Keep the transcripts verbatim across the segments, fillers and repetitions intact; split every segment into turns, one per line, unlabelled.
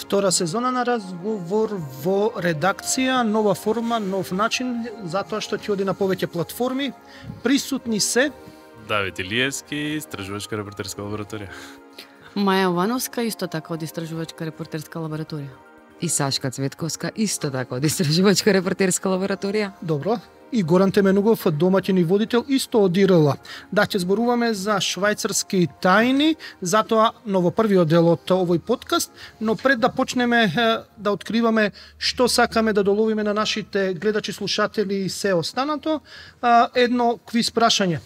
Втора сезона на разговор во редакција, нова форма, нов начин, затоа што ќе оди на повеќе платформи. Присутни се
Давид Илиевски, истражувачка репортерска лабораторија.
Маја Вановска, исто така од истражувачка репортерска лабораторија.
И Сашка Цветковска, исто така од истражувачка репортерска лабораторија.
Добро. И Горан Теменугов, домаќин и водител, исто од ИРЛ. Да, ќе зборуваме за швајцарски тајни, затоа но во првиот дел од овој подкаст, но пред да почнеме да откриваме што сакаме да доловиме на нашите гледачи, слушатели и се останато, едно квиз прашање.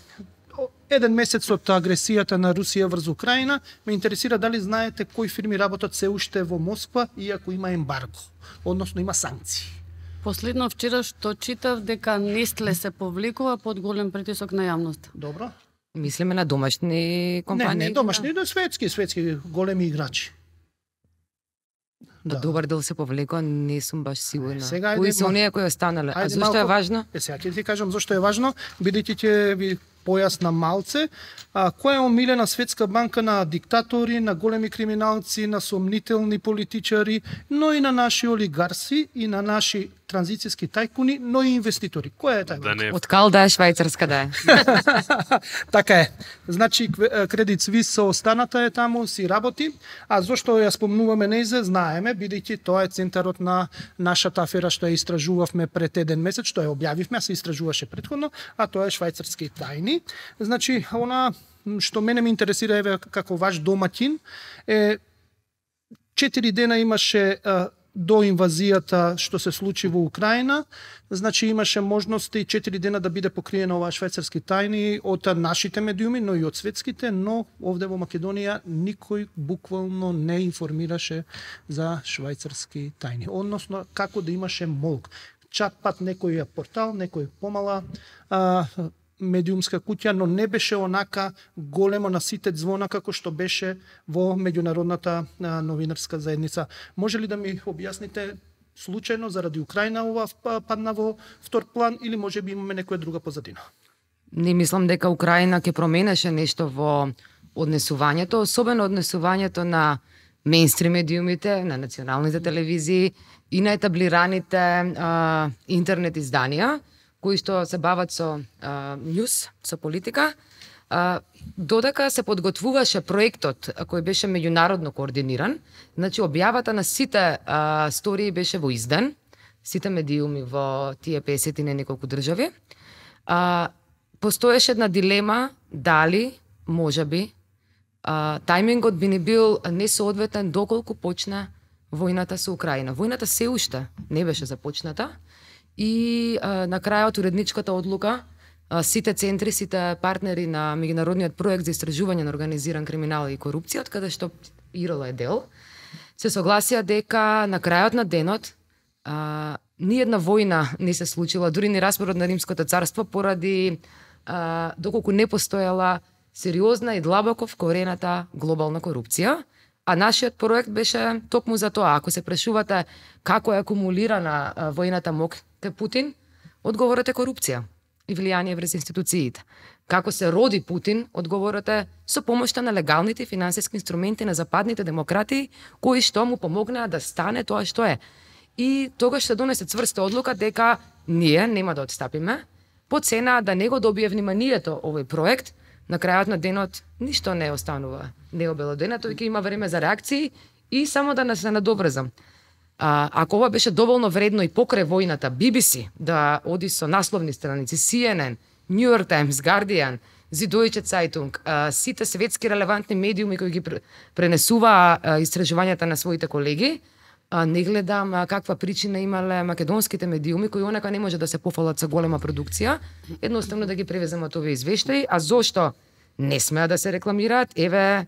Еден месец од агресијата на Русија врз Украина, ме интересира дали знаете кои фирми работат се уште во Москва, иако има ембарго, односно има санкции.
Последно вчера што читав дека Нестле се повлекува под голем притисок на јавност.
Добро.
Мислиме на домашни компании?
Не, не домашни, да светски, светски големи играчи.
Да. Добар дел се повлекува, не сум баш сигурна.
Сега,
кои се оние кои останале? А зашто е важно?
Е, сега ќе ти кажам зашто е важно, бидејќи ќе ви појасна малце, а, која е омилена светска банка на диктатори, на големи криминалци, на сомнителни политичари, но и на наши олигарси и на наши транзицијски тајкуни, но и инвеститори. Која е тај банка?
Да не...
Од кал да е швајцарска да е.
Така е. Значи Кредит Суис со останата е таму, си работи, а зошто ја спомнуваме нејзе, знаеме, бидејќи тоа е центарот на нашата афера што ја истражувавме пред еден месец, што ја објавивме, а се истражуваше претходно, а тоа е швајцарски тајни. Значи, она што мене ме интересира еве како ваш домаќин е четири дена имаше а, до инвазијата што се случи во Украина, значи имаше можности четири дена да биде покриена оваа швајцарски тајни од нашите медиуми, но и од светските, но овде во Македонија никој буквално не информираше за швајцарски тајни, односно како да имаше молк. Чат пат некој портал, некој помала а, медиумска куќа, но не беше онака големо на сите звона како што беше во меѓународната а, новинарска заедница. Може ли да ми објасните случајно заради Украина ова падна во втор план или може би имаме некоја друга позадина?
Не мислам дека Украина ќе променеше нешто во однесувањето, особено однесувањето на мејнстрим медиумите, на националните телевизии и на етаблираните а, интернет изданија, кои што се бават со а, њуз, со политика, а, додека се подготвуваше проектот кој беше меѓународно координиран, значи објавата на сите а, стории беше во изден, сите медиуми во тие песет и неколку држави. А, постоеше една дилема дали, можеби, а, тајмингот би ни бил несоодветен доколку почна војната со Украина. Војната се уште не беше започната, и а, на крајот уредничката одлука а, сите центри, сите партнери на меѓународниот проект за истражување на организиран криминал и корупција, од каде што ИРЛ е дел, се согласија дека на крајот на денот а, ниедна војна не се случила, дури ни распорот на Римското царство, поради а, доколку не постоела сериозна и длабоко вкорената глобална корупција. А нашиот проект беше токму за тоа. Ако се прашувате како е акумулирана а, војната мок кај Путин, одговорот е корупција и влијание врз институциите. Како се роди Путин, одговорот е со помошта на легалните финансиски инструменти на западните демократии, кои што му помогнаа да стане тоа што е. И тогаш се донесе цврста одлука дека ние нема да отстапиме, по цена да не го добие вниманието овој проект. На крајот на денот ништо не останува необелодено, тој ќе има време за реакции и само да не се надобрзам. А, ако ова беше доволно вредно и покрај војната, Би Би Си да оди со насловни страници, Си Ен Ен, Нью Йорк Таймс, Guardian, Süddeutsche Zeitung, а, сите светски релевантни медиуми кои ги пренесуваа истражувањата на своите колеги, а, не гледам а, каква причина имале македонските медиуми кои онака не може да се пофалат со голема продукција, едноставно да ги превеземат овие извештаи, а зошто не смеа да се рекламираат? Еве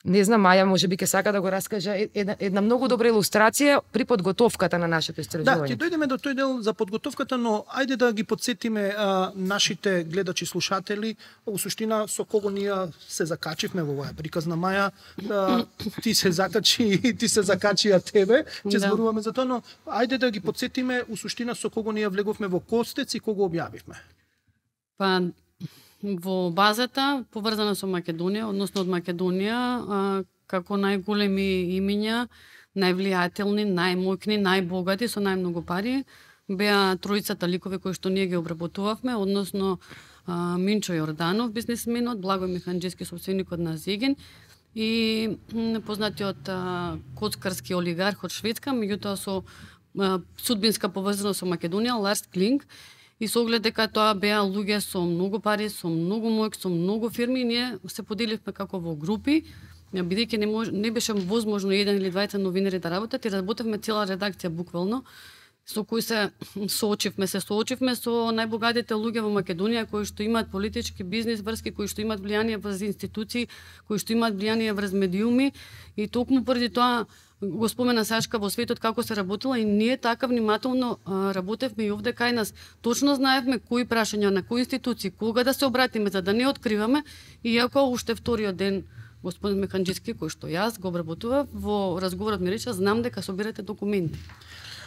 Не знам, Маја, може би ќе сака да го раскаже една, една многу добра илустрација при подготовката на нашето истражување.
Да, ќе дојдеме до тој дел за подготовката, но ајде да ги подсетиме а, нашите гледачи, слушатели, во суштина со кого ние се закачивме во оваа приказна. Маја, а, ти се закачи и ти се закачи а тебе, ќе
Да.
зборуваме за тоа, но ајде да ги подсетиме у суштина со кого ние влеговме во Костец и кого објавивме.
Па во базата поврзана со Македонија, односно од Македонија, а, како најголеми имиња, највлијателни, најмоćни, најбогати со најмногу пари, беа тројцата ликови кои што ние ги обработувавме, односно а, Минчо Јорданов, бизнисменот, Благој Механџиски, собственикот на Зеген, и м, познатиот а, коцкарски олигарх од Шведска, меѓутоа со а, судбинска поврзаност со Македонија, Ларс Клинг, и со оглед дека тоа беа луѓе со многу пари, со многу моќ, со многу фирми, и ние се поделивме како во групи, бидејќи не, мож, не беше возможно еден или двајца новинари да работат, и работевме цела редакција буквално, со кои се соочивме, се соочивме со најбогатите луѓе во Македонија, кои што имаат политички бизнис врски, кои што имаат влијание врз институции, кои што имаат влијание врз медиуми, и токму поради тоа го спомена Сашка во светот како се работила, и ние така внимателно а, работевме и овде кај нас. Точно знаевме кои прашања на кои институции, кога да се обратиме за да не откриваме, иако уште вториот ден господин Механџиски, кој што јас го обработував, во разговорот ми рече, знам дека собирате документи.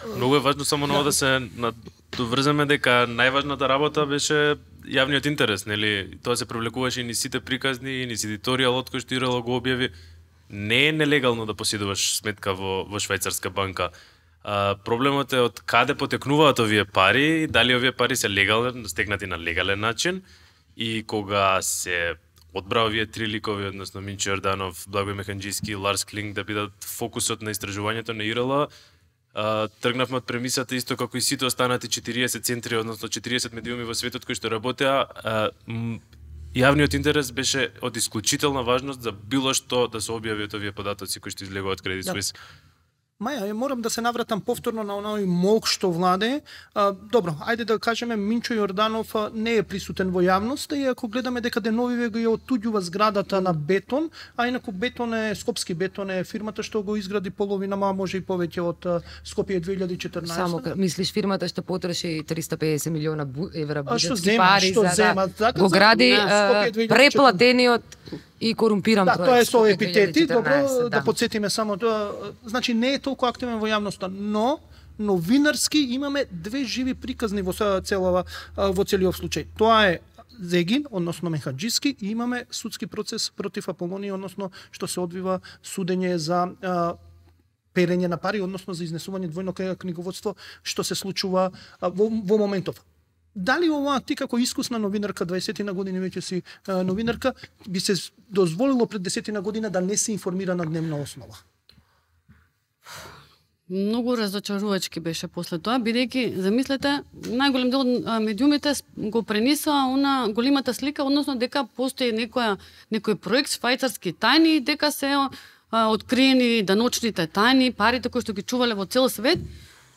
Многу е важно само ново да се надоврземе дека најважната работа беше јавниот интерес, нели? Тоа се привлекуваше и ни сите приказни, и ни едиторијалот кој што Ирела го објави. Не е нелегално да поседуваш сметка во, во швајцарска банка. А, проблемот е од каде потекнуваат овие пари, дали овие пари се легални, стекнати на легален начин, и кога се одбра овие три ликови, односно Минчо Јорданов, Благој Механџиски и Ларс Клинг да бидат фокусот на истражувањето на Ирела, а, тргнавме од премисата исто како и сите останати четириесет центри, односно четириесет медиуми во светот кои што работеа, а, м, јавниот интерес беше од исклучителна важност за било што да се објавиат овие податоци кои што излегуваат Credit Suisse.
Маја, морам да се навратам повторно на оној молк што владе. А, добро, ајде да кажеме, Минчо Јорданов а, не е присутен во јавноста, и ако гледаме дека деновиве го ја оттуѓува зградата на Бетон, а инаку Бетон е, Скопски Бетон е фирмата што го изгради половина, ма може и повеќе од а, Скопје две илјади и четрнаесета.
Само ка- мислиш фирмата што потроши триста и педесет милиона бу- евра
А што
буџетски
зема,
пари
што
за
зема,
да
така,
го
за-
гради
Да,
а,
Скопје две илјади и четрнаесета.
преплатениот и корумпиран
Да,
проект.
тоа е со
Скопје
епитети, добро,
две илјади и четрнаесет,
да подсетиме само тоа. Значи не е толку активен во јавноста, но новинарски имаме две живи приказни во се- целава во целиот случај. Тоа е Зегин, односно Механџиски, и имаме судски процес против Аполонија, односно што се одвива судење за а, перење на пари, односно за изнесување двојно книговодство, што се случува а, во, во моментов. Дали ова ти како искусна новинарка, дваесет години веќе си а, новинарка, би се дозволило пред десет година да не се информира на дневна основа?
Многу разочарувачки беше после тоа, бидејќи, замислете, најголем дел од а, медиумите с- го пренесоа она големата слика, односно дека постои некоја, некој проект швајцарски тајни, и дека се а, откриени даночните тајни, парите кои што ги чувале во цел свет.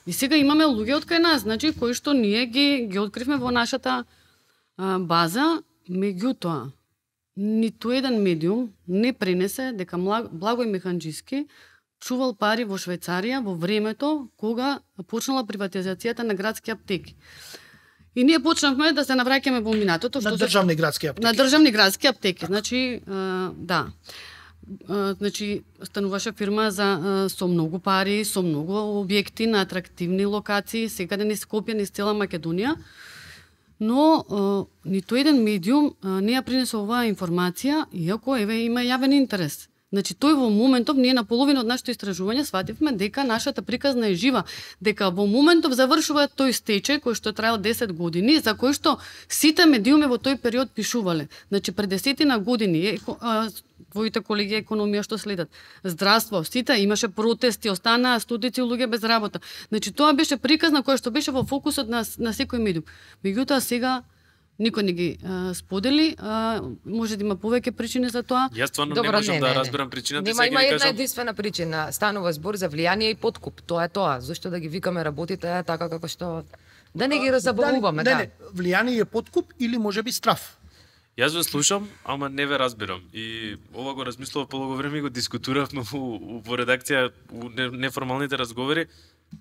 И сега имаме луѓе од кај нас, значи, кои што ние ги, ги откривме во нашата а, база, меѓутоа, ниту еден медиум не пренесе дека Мла- Благој Механџиски чувал пари во Швајцарија во времето кога почнала приватизацијата на градски аптеки. И ние почнавме да се навраќаме во минатото,
На
што се
државни градски аптеки.
на државни градски аптеки. Значи, а, да. А, значи, стануваше фирма за а, со многу пари, со многу објекти на атрактивни локации, секаде низ Скопје, низ цела Македонија. Но а, ниту еден медиум а, не ја принесува оваа информација, иако еве има јавен интерес. Значи, тој во моментов, ние на половина од нашето истражување свативме дека нашата приказна е жива, дека во моментов завршува тој стечај кој што траел десет години, за кој што сите медиуми во тој период пишувале. Значи, пред десетина години, еко, а, твоите колеги економија што следат, здравство, сите имаше протести, останаа стотици луѓе без работа. Значи, тоа беше приказна која што беше во фокусот на, на секој медиум. Меѓутоа, сега никој не ги а, сподели, а, може да има повеќе причини за тоа.
Јас стварно
Добро,
не можам
не,
да
не, не.
разберам причината,
Нема,
сега
има
ги
една
кажам.
единствена причина. Станува збор за влијание и подкуп. Тоа е тоа. Зошто да ги викаме работите така како што да не ги разабавуваме,
Дали,
да.
не, не, влијание е подкуп или може би страф.
Јас ве слушам, ама не ве разбирам. И ова го размислував полого време и го дискутиравме у, у редакција, у неформалните разговори.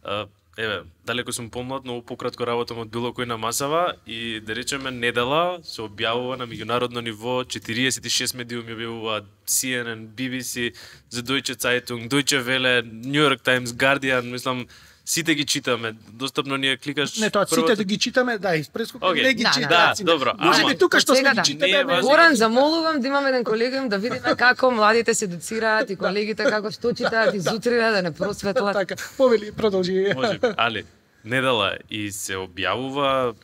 А, еве, далеко сум помлад, но пократко работам од било кој на масава и да речеме недела се објавува на меѓународно ниво, четириесет и шест медиуми објавуваат, Си Ен Ен, Би Би Си, The Deutsche Zeitung, Deutsche Welle, New York Times, Guardian, мислам, сите ги читаме. Достапно ни е кликаш.
Не, тоа сите да ги читаме, да, испрескока,
okay.
не ги
Да,
читаме.
Да, добро.
Може би тука што сме ги читаме.
важно.
Горан, замолувам да имаме еден колегиум да видиме како младите се educираат и колегите како што читаат и зутрина да не просветлат.
Така, повели, продолжи.
Може би, али недела и се објавува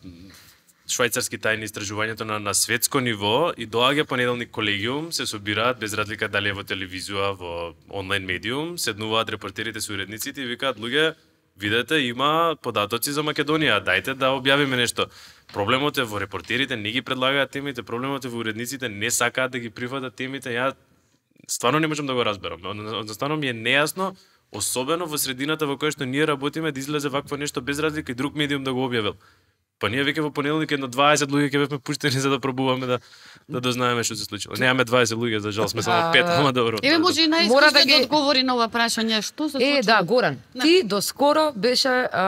швајцарски тајни истражувањето на, на светско ниво и доаѓа понеделник колегиум, се собираат без разлика дали е во телевизија, во онлайн медиум, седнуваат репортерите со уредниците и викаат луѓе, видете, има податоци за Македонија, дајте да објавиме нешто. Проблемот е во репортерите, не ги предлагаат темите, проблемот е во уредниците, не сакаат да ги прифатат темите. Ја стварно не можам да го разберам. Одноставно ми е нејасно, особено во средината во која што ние работиме, да излезе вакво нешто без разлика и друг медиум да го објавил. Па ние веќе во понеделник едно дваесет луѓе ќе бевме пуштени за да пробуваме да да дознаеме што се случило. Немаме дваесет луѓе, за жал сме само пет, ама добро.
Еве може и
Мора да
најискусен
ги-
да одговори на ова прашање, што се случило?
Е, да, Горан, ти доскоро беше а,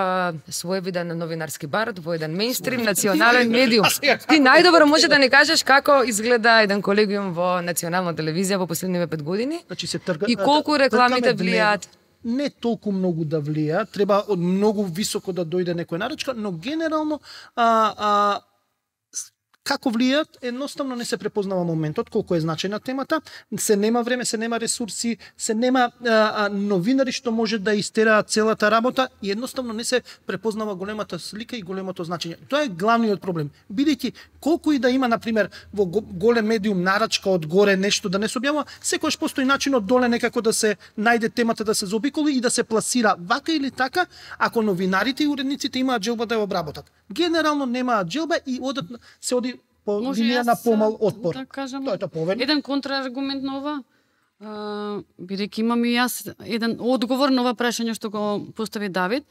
своевиден новинарски бард во еден мејнстрим национален медиум. Ти најдобро може да не кажеш како изгледа еден колегиум во национална телевизија во последниве пет години
Значи се трга.
и колку
тргаме
рекламите
до
влијаат.
него. Не толку многу да влија, треба од многу високо да дојде некој нарачка, но генерално а, а, с- како влијат, едноставно не се препознава моментот, колку е значајна темата, се нема време, се нема ресурси, се нема а, а, новинари што може да истераат целата работа и едноставно не се препознава големата слика и големото значење. Тоа е главниот проблем. Бидејќи колку и да има на пример во го- голем медиум нарачка од горе нешто да не се објавува, секогаш постои начин од доле некако да се најде темата да се заобиколи и да се пласира вака или така, ако новинарите и уредниците имаат желба да ја обработат. Генерално немаат желба и одат се оди по
Може
линија
јас
на помал отпор.
Да кажам.
Тоа е тоа повели.
Еден контраргумент на ова. А, бидејќи имам и јас еден одговор на ова прашање што го постави Давид.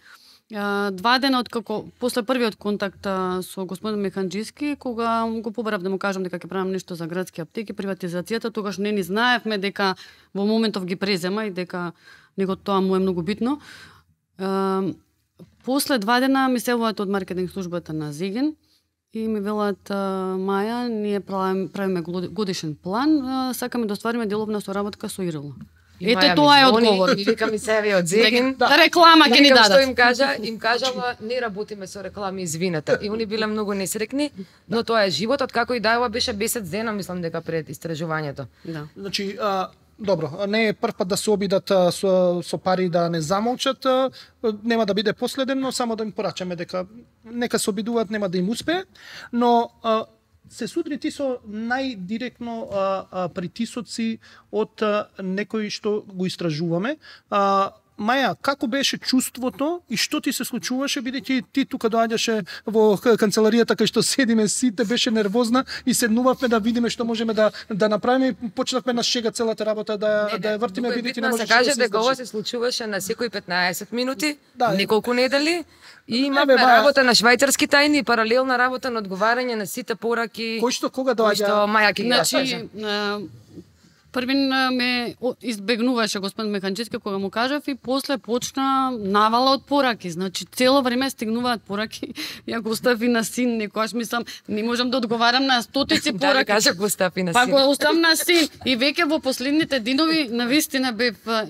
А, два дена од како после првиот контакт а, со господин Механџиски, кога го побарав да му кажам дека ќе правам нешто за градски аптеки, приватизацијата, тогаш не ни знаевме дека во моментов ги презема и дека него тоа му е многу битно. А, после два дена ми се јавуваат од маркетинг службата на Зиген и ми велат а, Маја, ние правиме, правиме годишен план, а, сакаме да оствариме деловна соработка со Ирила.
И
Ете
Маја ми
тоа е
звони
одговор.
И вика ми се од Зегин.
Да, реклама ќе ни
Викам, што
дадат.
им кажа, им кажала не работиме со реклами, извинете. И они биле многу несрекни, но тоа е животот, како и да ова беше месец дена, мислам дека пред истражувањето.
Да.
Значи, а, добро, не е прв пат да се обидат а, со, со пари да не замолчат, а, нема да биде последен, но само да им порачаме дека нека се обидуваат, нема да им успее, но а, се судри ти со најдиректно а, а, притисоци од а, некои што го истражуваме. А, Маја, како беше чувството и што ти се случуваше, бидејќи ти тука доаѓаше во к- канцеларијата кај што седиме сите, беше нервозна и седнувавме да видиме што можеме да да направиме и почнавме на шега целата работа да да ја вртиме,
Многу е
бидејќи
битно
не
да се
можеше
каже
да се
дека ова
издржи.
се случуваше на секои петнаесет минути,
Да, е.
неколку недели и
Не,
имавме
бе, Маја.
работа на швајцарски тајни и паралелна работа на одговарање на сите пораки
Кој што кога
кои што
доаѓа?
Маја ќе ги
Значи,
раскаже.
а, првин а, ме о- избегнуваше господин Механџиски кога му кажав и после почна навала од пораки. Значи цело време стигнуваат пораки. Ја го остави на син, некојаш мислам не можам да одговарам на стотици
Да,
пораки.
кажа го стапи на
Па
син.
го оставам на син и веќе во последните денови навистина бев а,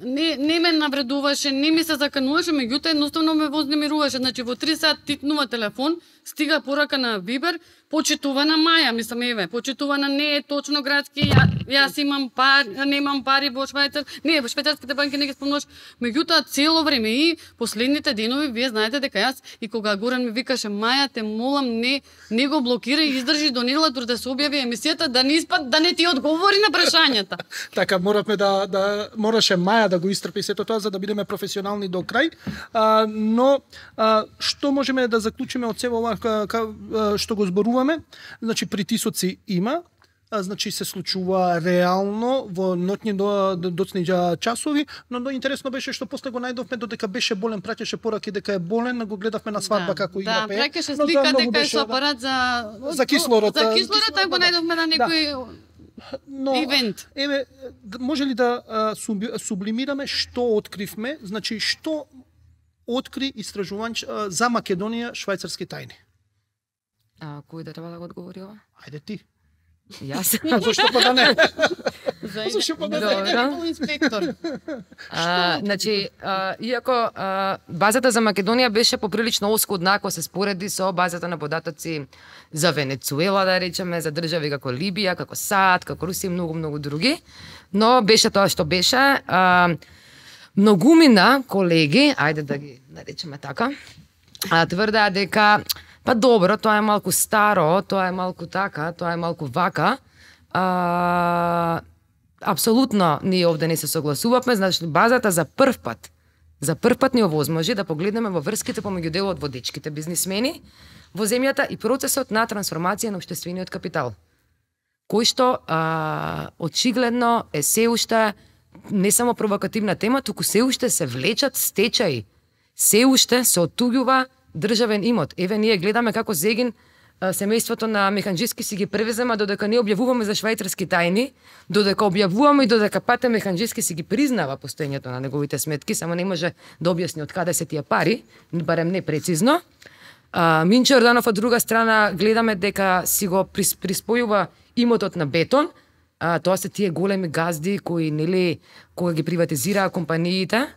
не не ме навредуваше, не ми се закануваше, меѓутоа едноставно ме вознемируваше. Значи во три сат титнува телефон, стига порака на Вибер, почитувана Маја, мислам еве, почитувана не е точно градски, ја, јас имам пари, немам пари во Швајцар, не, во швајцарските банки не ги спомнуваш, меѓутоа цело време и последните денови вие знаете дека јас и кога Горан ми викаше Маја, те молам не не го блокирај, издржи до недела дури да се објави емисијата, да не испад да не ти одговори на прашањата.
Така моравме да да мораше Маја да го истрпи сето тоа за да бидеме професионални до крај. А, но а, што можеме да заклучиме од сева ова ка, ка, а, што го зборуваме? Значи притисоци има. а, значи се случува реално во ноќни до доцни часови, но, но интересно беше што после го најдовме додека беше болен, праќаше пораки дека е болен, го гледавме на свадба
да,
како игра
да,
пее.
Да, праќаше
но
слика дека е
беше,
со апарат за
за кислород.
За кислород, го најдовме на некој
но,
ивент.
Еве, може ли да а, сублимираме што откривме, значи што откри истражувач за Македонија швајцарски тајни?
А, кој да треба да го одговори ова?
Ајде ти.
Јас?
Зошто па да не?
Зошто па да
не?
Инспектор.
А, значи, а, иако а, базата за Македонија беше поприлично оскудна ако се спореди со базата на податоци за Венецуела, да речеме, за држави како Либија, како САД, како Русија и многу, многу други, но беше тоа што беше. А, многумина колеги, ајде да ги наречеме така, а, тврдаа дека па добро, тоа е малку старо, тоа е малку така, тоа е малку вака. А, апсолутно ние овде не се согласувавме, значи базата за прв пат, за прв пат ни овозможи да погледнеме во врските помеѓу делот водечките бизнисмени во земјата и процесот на трансформација на општествениот капитал, кој што а, очигледно е се уште не само провокативна тема, туку се уште се влечат стечаи, се уште се оттуѓува државен имот. Еве ние гледаме како Зегин семејството на Механџиски си ги превезема, додека не објавуваме за швајцарски тајни, додека објавуваме и додека Пате Механџиски си ги признава постоењето на неговите сметки, само не може да објасни од каде се тие пари, барем не прецизно. А, Минчо Јорданов од друга страна гледаме дека си го приспојува имотот на Бетон. А, тоа се тие големи газди кои нели кога ги приватизираа компаниите.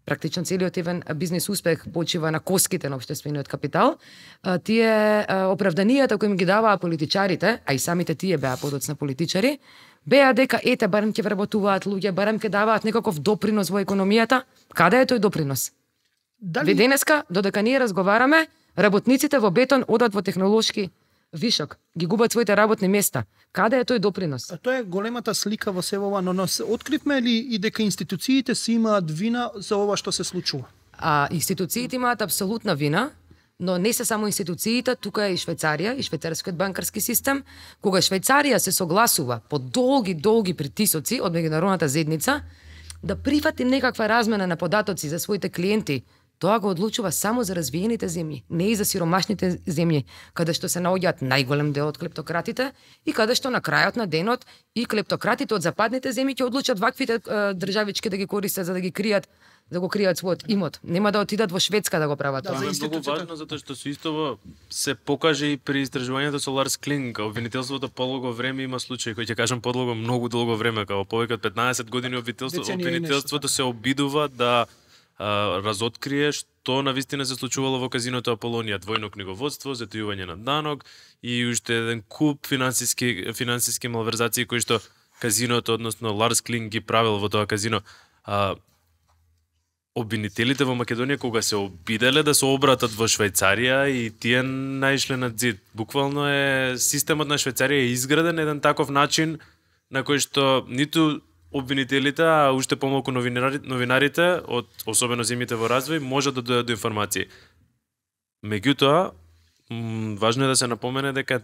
Практично целиот евен бизнес успех почива на коските на општествениот капитал. А, тие а, оправданијата кои им ги даваа политичарите, а и самите тие беа подоцна политичари, беа дека ете барем ќе вработуваат луѓе, барем ќе даваат некаков допринос во економијата. Каде е тој допринос? Дали... Ве денеска, додека ние разговараме, работниците во Бетон одат во технолошки вишок, ги губат своите работни места. Каде е тој допринос?
А тоа е големата слика во сево ова, но нас откривме ли и дека институциите си имаат вина за ова што се случува?
А институциите имаат апсолутна вина, но не се само институциите, тука е и Швајцарија и швајцарскиот банкарски систем. Кога Швајцарија се согласува по долги, долги притисоци од меѓународната заедница да прифати некаква размена на податоци за своите клиенти, тоа го одлучува само за развиените земји, не и за сиромашните земји, каде што се наоѓаат најголем дел од клептократите и каде што на крајот на денот и клептократите од западните земји ќе одлучат ваквите е, државички да ги користат за да ги кријат, да го кријат својот имот. Нема да отидат во Шведска да го прават
Да,
тоа.
Тоа е многу важно затоа што со истово се покаже и при истражувањето со Ларс Клинг, обвинителството подолго време има случаи кои ќе кажам подолго многу долго време, како повеќе од петнаесет години обвинителството, обвинителството се обидува да а, разоткрие што навистина се случувало во казиното Аполонија, двојно книговодство, затојување на данок и уште еден куп финансиски финансиски малверзации кои што казиното, односно Ларс Клинг ги правил во тоа казино. А, обвинителите во Македонија кога се обиделе да се обратат во Швајцарија и тие наишле на зид. Буквално е системот на Швајцарија е изграден еден таков начин на кој што ниту обвинителите, а уште помалку новинарите, новинарите од особено земјите во развој можат да дојдат до информации. Меѓутоа, важно е да се напомене дека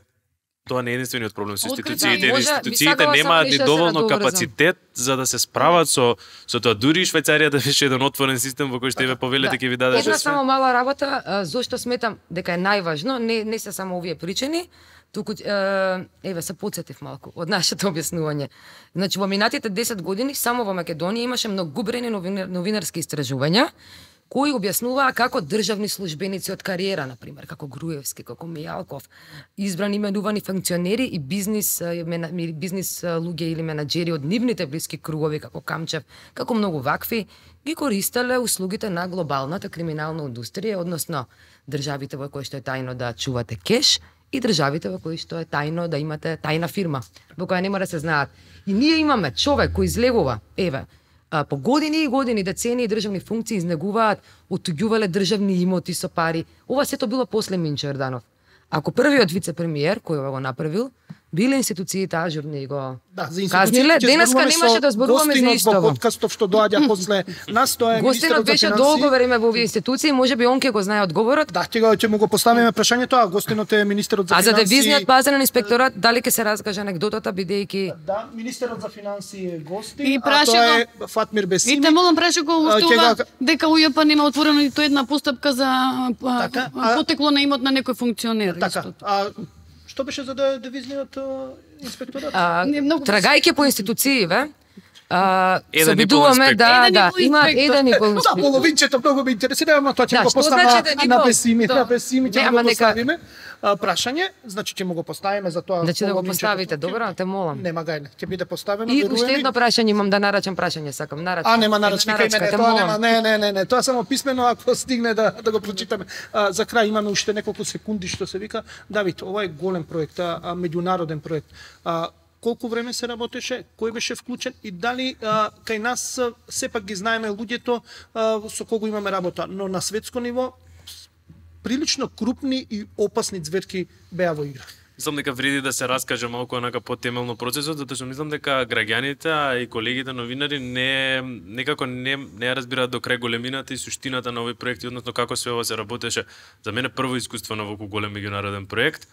тоа не е единствениот проблем со институциите.
Може,
институциите немаат ни доволно капацитет за да се справат со со тоа. Дури и Швајцарија да беше еден отворен систем во кој што еве повелете ќе ви даде
една само мала работа, зошто сметам дека е најважно, не не се само овие причини, туку еве се потсетив малку од нашето објаснување. Значи во минатите десет години само во Македонија имаше многубрени новинар, новинарски истражувања кои објаснуваа како државни службеници од кариера, на пример, како Груевски, како Мијалков, избрани именувани функционери и бизнис бизнис луѓе или менаџери од нивните блиски кругови, како Камчев, како многу вакви, ги користеле услугите на глобалната криминална индустрија, односно државите во кои што е тајно да чувате кеш и државите во кои што е тајно да имате тајна фирма, во која нема да се знаат. И ние имаме човек кој излегува, еве, по години и години, децении државни функции изнегуваат, оттуѓувале државни имоти со пари. Ова сето било после Минчо Јорданов. Ако првиот вице-премиер, кој ова го направил, биле институциите ажурни и го
Да, за
казниле. Денеска немаше да зборуваме за исто.
Гостинот во подкастов што доаѓа после нас, тоа е
Гостинот беше долго време во овие институции, можеби он ќе го знае одговорот.
Да, ќе го ќе му го поставиме прашањето, а гостинот е министерот за
финансии. А за девизниот пазарен инспекторат, дали ќе се раскаже анегдотата бидејќи
Да, министерот за финансии е гостин,
И
а тоа е Фатмир Бесими.
И те молам праше го устува
Ќе
дека УЈП нема отворено ниту една постапка за а,
Така,
а,
а-
потекло на имот на некој функционер.
Така,
исто.
а што беше за да девизниот а, инспекторат?
а,
Не, многу-
трагајќи по институции, ве, а,
Еден
се
и пол
обидуваме
инспектор.
да,
Еден и
да,
пол
има
инспектор.
еден и пол
Да,
инспектор.
половинчето многу ме интересира, ама тоа ќе
Да,
го
што
поставиме
значи еден и
на
пол?
Бесими,
Да.
на Бесими
Не,
ќе
ама
го
нека-
поставиме. А, прашање, значи ќе му го поставиме за тоа.
Значи да го
половинчето.
поставите, добро, те молам.
Нема гајле, ќе биде поставено.
И
верувам
уште
ми.
едно прашање имам да нарачам прашање, сакам нарачам.
А, нема нарачник,
нарачка,
име, не,
те
тоа
молам.
нема, не, не, не, не, тоа само писмено ако стигне да да го прочитаме. А, за крај имаме уште неколку секунди што се вика. Давид, ова е голем проект, а, а меѓународен проект. А, колку време се работеше, кој беше вклучен и дали а, кај нас а, сепак ги знаеме луѓето а, со кого имаме работа, но на светско ниво прилично крупни и опасни зверки беа во игра.
Мислам дека вреди да се раскаже малку онака потемелно процесот, затоа што мислам дека граѓаните а и колегите новинари не некако не не ја разбираат до крај големината и суштината на овој проект, односно како све ова се работеше. За мене прво искуство на воколку голем меѓународен проект.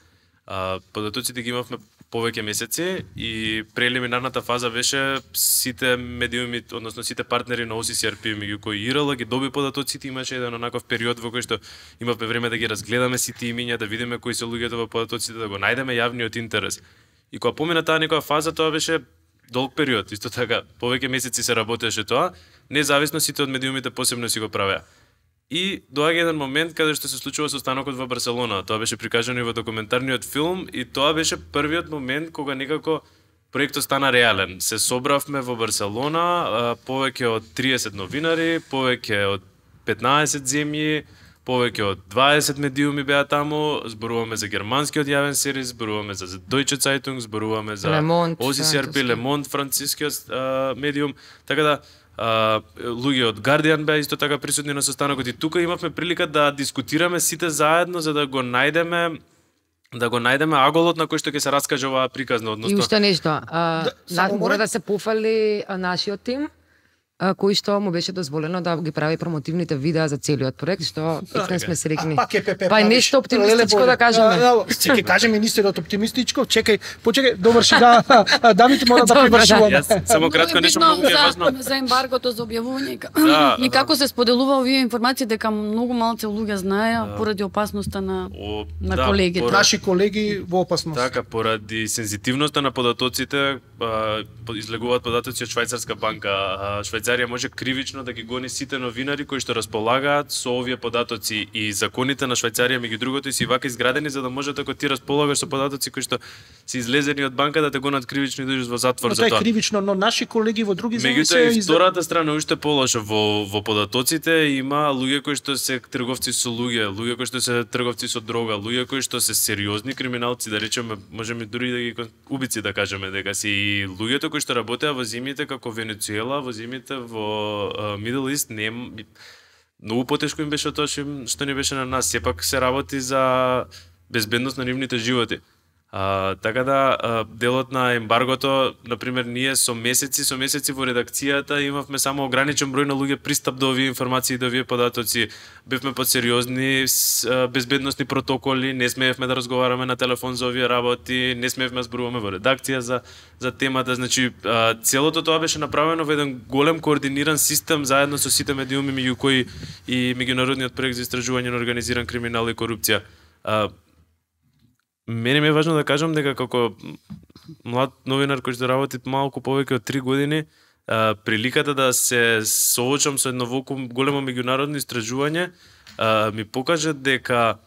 А, податоците ги имавме повеќе месеци и прелиминарната фаза беше сите медиуми, односно сите партнери на О Си Си Ар Пи, меѓу кои И Р Л ги доби податоците, имаше еден онаков период во кој што имавме време да ги разгледаме сите имиња, да видиме кои се луѓето во податоците, да го најдеме јавниот интерес. И кога помина таа некоја фаза, тоа беше долг период, исто така, повеќе месеци се работеше тоа, независно сите од медиумите посебно си го правеа. И доаѓа еден момент каде што се случува со станокот во Барселона. Тоа беше прикажано и во документарниот филм и тоа беше првиот момент кога некако проектот стана реален. Се собравме во Барселона, повеќе од триесет новинари, повеќе од петнаесет земји, повеќе од дваесет медиуми беа таму, зборуваме за германскиот јавен сервис, зборуваме за Deutsche Zeitung, зборуваме за
Le Monde,
О Си Си Ар Пи, Le Monde, францускиот медиум, така да Uh, луѓе од Guardian беа исто така присутни на состанокот и тука имавме прилика да дискутираме сите заедно за да го најдеме да го најдеме аголот на кој што ќе се раскаже оваа приказна,
И
односно
уште нешто, а,
Да,
на,
само
мора
мора-
да се пофали а, нашиот тим, а, кој што му беше дозволено да ги прави промотивните видеа за целиот проект, што не сме срекни.
А пак е ПП.
Па и нешто оптимистичко да кажеме.
Ќе ќе каже министерот оптимистичко, чекај, почекај, доврши да Давид мора да
Добро, да.
привршуваме.
Јас само кратко
Многу е
нешто
битно
многу ми е
за,
важно.
за ембаргото за објавување и ка-
Да,
и како се споделува овие информации дека многу малце луѓе знаеа поради опасноста на
О,
на
да,
колегите.
поради-
Наши колеги во опасност.
Така, поради сензитивноста на податоците, а, по- излегуваат податоци од Швајцарска банка. А, Швајцарија може кривично да ги гони сите новинари кои што располагаат со овие податоци и законите на Швајцарија меѓу другото и си вака изградени за да може ако ти располагаш со податоци кои што се излезени од банка да те гонат кривично и да идеш во затвор
Но
за
тоа е
тоа.
кривично, но наши колеги во други земји
Меѓутоа
се
и
из-
втората страна уште полошо во во податоците има луѓе кои што се трговци со луѓе, луѓе кои што се трговци со дрога, луѓе кои што се сериозни криминалци, да речеме, можеме дури да ги кон- убици да кажеме дека си и луѓето кои што работеа во земјите како Венецуела, во земјите во uh, Middle East не многу потешко им беше тоа што им- што ни беше на нас. Сепак се работи за безбедност на нивните животи. А, така да, а, делот на ембаргото, например, ние со месеци, со месеци во редакцијата имавме само ограничен број на луѓе пристап до овие информации, до овие податоци. Бевме под сериозни с, а, безбедносни протоколи, не смеевме да разговараме на телефон за овие работи, не смеевме да зборуваме во редакција за за темата. Значи, а, целото тоа беше направено во еден голем координиран систем заедно со сите медиуми меѓу кои и меѓународниот проект за истражување на организиран криминал и корупција. А, Мене ми е важно да кажам дека како млад новинар кој што работи малку повеќе од три години, а, приликата да се соочам со едно волку големо меѓународно истражување а, ми покажа дека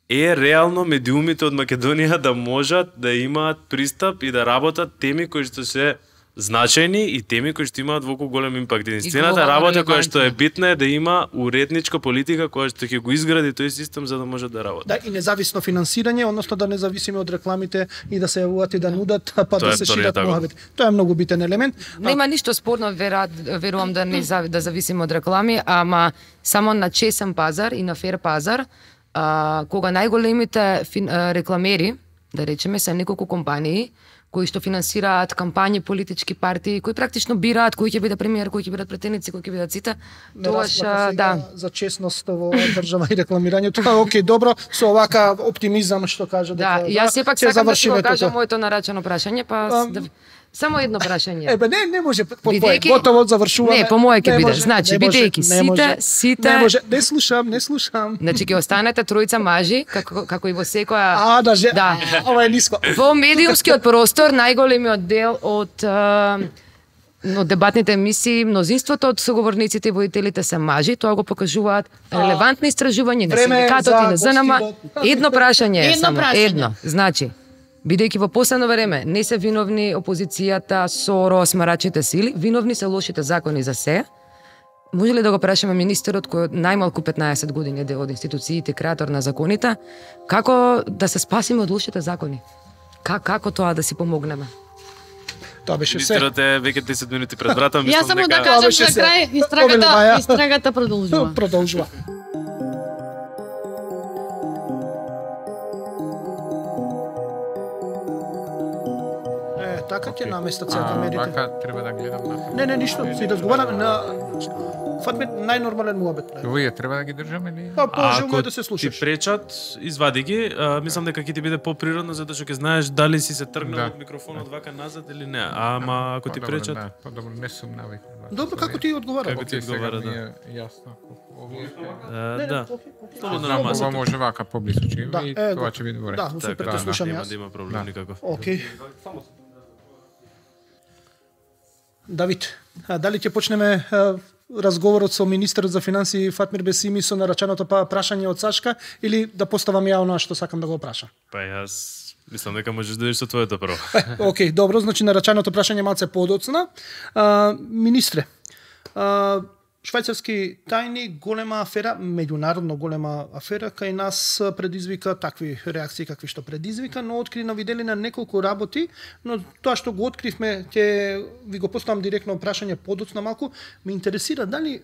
е реално медиумите од Македонија да можат да имаат пристап и да работат теми кои што се значајни и теми кои што имаат волку голем импакт. Единствената
глобално
работа која што е
релевантни.
битна е да има уредничка политика која што ќе го изгради тој систем за да може да работи.
Да, и независно финансирање, односно да не зависиме од рекламите и да се јавуваат и да нудат, па
Тоа
да
е
се
вториот
шират
агот.
муабети. Тоа е многу битен елемент.
Нема ништо спорно, верат, верувам да не зави, да зависиме од реклами, ама само на чесен пазар и на фер пазар, а, кога најголемите фин, а, рекламери да речеме, се неколку компании кои што финансираат кампањи, политички партии, кои практично бираат кој ќе биде премиер, кои ќе бидат претеници, кои ќе бидат сите.
Тоаш да за честност во држава и рекламирањето. Тоа окей, добро, со овака оптимизам што кажа дека
да, јас сепак сакам да си го кажам моето нарачано прашање, па um, да, само едно прашање.
Ебе не, не може по твое, готово завршуваме.
Не, по мое ќе биде. Значи бидејќи сите, сите
Не може, не слушам, не слушам.
Значи ќе останете тројца мажи, како како и во секоја
А, да, же,
да.
Ова е ниско.
Во медиумскиот простор најголемиот дел од но дебатните емисии, мнозинството од соговорниците и воителите се мажи, тоа го покажуваат релевантни истражувања на синдикатот и на ЗНМ. Едно прашање е само, едно. Значи, бидејќи во последно време не се виновни опозицијата, СОРО, смарачите сили, виновни се лошите закони за се. Може ли да го прашаме министерот кој од најмалку петнаесет години е дел од институциите, креатор на законите, како да се спасиме од лошите закони? Как, како тоа да си помогнеме?
Тоа беше се.
Министерот е веќе десет минути пред врата, мислам дека...
Јас само да кажам за крај, истрагата, истрагата продолжува.
Продолжува. Е, така ќе наместат сега камерите.
Вака треба да гледам на.
Не, не, ништо, си разговараме на Фатме најнормален муабет.
Вие треба да ги држаме или?
Па положено е да се
Ти
слушаш.
пречат, извади ги, а, мислам дека ќе ти биде поприродно затоа што ќе знаеш дали си се тргнал
Да.
од микрофонот вака назад или не. Ама ако ти
По-добро,
пречат,
да, по-добро не сум навикнат.
Добро, како ти одговара?
Како ти одговара, да.
Јасно. Овие
а, да. Слободно на
Ова
масата.
може вака поблису ќе
Да,
и
е,
тоа ќе биде добре.
Да, супер, те слушам
Нема
јас.
да има проблем никаков.
Океј. Давид, а, дали ќе почнеме а, разговорот со министерот за финансии Фатмир Бесими со нарачаното па прашање од Сашка или да поставам ја она што сакам да го прашам?
Па јас мислам дека можеш да идеш со твоето прво.
Океј, добро, значи нарачаното прашање малце подоцна. А, министре, а, швајцарски тајни, голема афера, меѓународно голема афера, кај нас предизвика такви реакции какви што предизвика, но откри на видели на неколку работи, но тоа што го откривме, ќе ви го поставам директно прашање подоцна малку, ме интересира дали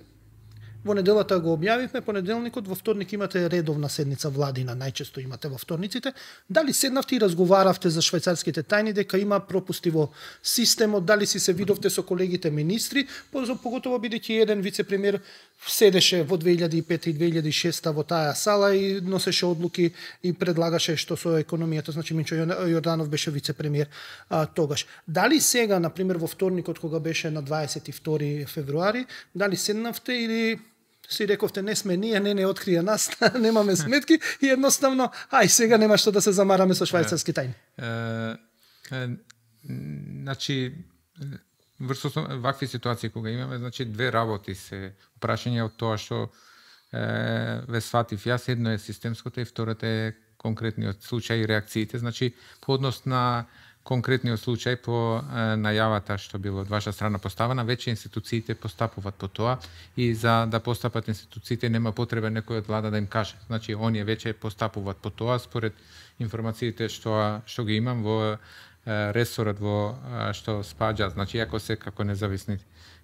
во неделата го објавивме, понеделникот, во вторник имате редовна седница владина, најчесто имате во вторниците. Дали седнавте и разговаравте за швајцарските тајни, дека има пропусти во системот, дали си се видовте со колегите министри, поготово бидејќи еден вице-премиер седеше во две илјади и пета и две илјади и шеста во таа сала и носеше одлуки и предлагаше што со економијата, значи Минчо Јорданов беше вице-премиер а, тогаш. Дали сега, на пример, во вторникот, кога беше на дваесет и втори февруари, дали седнавте или си рековте не сме ние, не не открија нас, немаме сметки и едноставно, ај сега нема што да се замараме со швајцарски тајни.
Е, е, значи врз вакви ситуации кога имаме, значи две работи се прашање од тоа што е, ве сватив јас, едно е системското и второто е конкретниот случај и реакциите, значи по однос на конкретниот случај по е, најавата што било од ваша страна поставена, веќе институциите постапуваат по тоа и за да постапат институциите нема потреба некој од влада да им каже. Значи оние веќе постапуваат по тоа според информациите што што ги имам во е, ресорот во е, што спаѓа, значи ако се како независни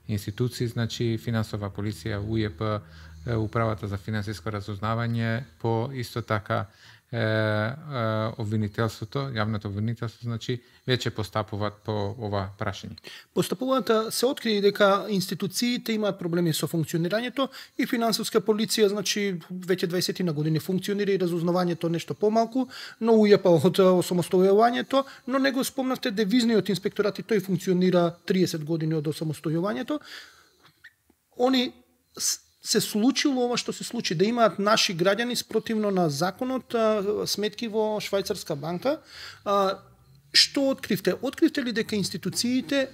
институции, значи финансова полиција, У Е П, е, управата за финансиско разузнавање, по исто така е, е, обвинителството, јавното обвинителство, значи веќе постапуваат по ова прашање.
Постапуваат се откри дека институциите имаат проблеми со функционирањето и финансовска полиција, значи веќе дваесет на години функционира и разузнавањето нешто помалку, но У Е П од осамостојувањето, но не го спомнавте девизниот инспекторат и тој функционира триесет години од осамостојувањето. Они се случило ова што се случи, да имаат наши граѓани спротивно на законот сметки во швајцарска банка. Што откривте? Откривте ли дека институциите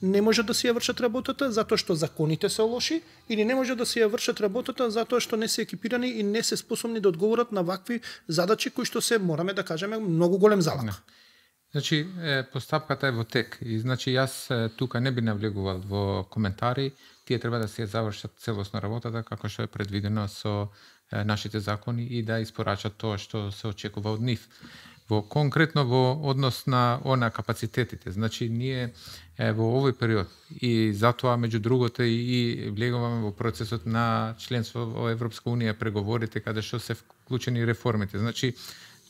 не можат да си ја вршат работата затоа што законите се лоши или не можат да си ја вршат работата затоа што не се екипирани и не се способни да одговорат на вакви задачи кои што се, мораме да кажеме, многу голем залак?
Не. Значи, е, постапката е во тек и значи јас е, тука не би навлегувал во коментари, тие треба да се завршат целосно работата како што е предвидено со е, нашите закони и да испорачат тоа што се очекува од нив. Во конкретно во однос на она капацитетите, значи ние е, во овој период и затоа меѓу другото и влегуваме во процесот на членство во Европска унија, преговорите каде што се вклучени реформите. Значи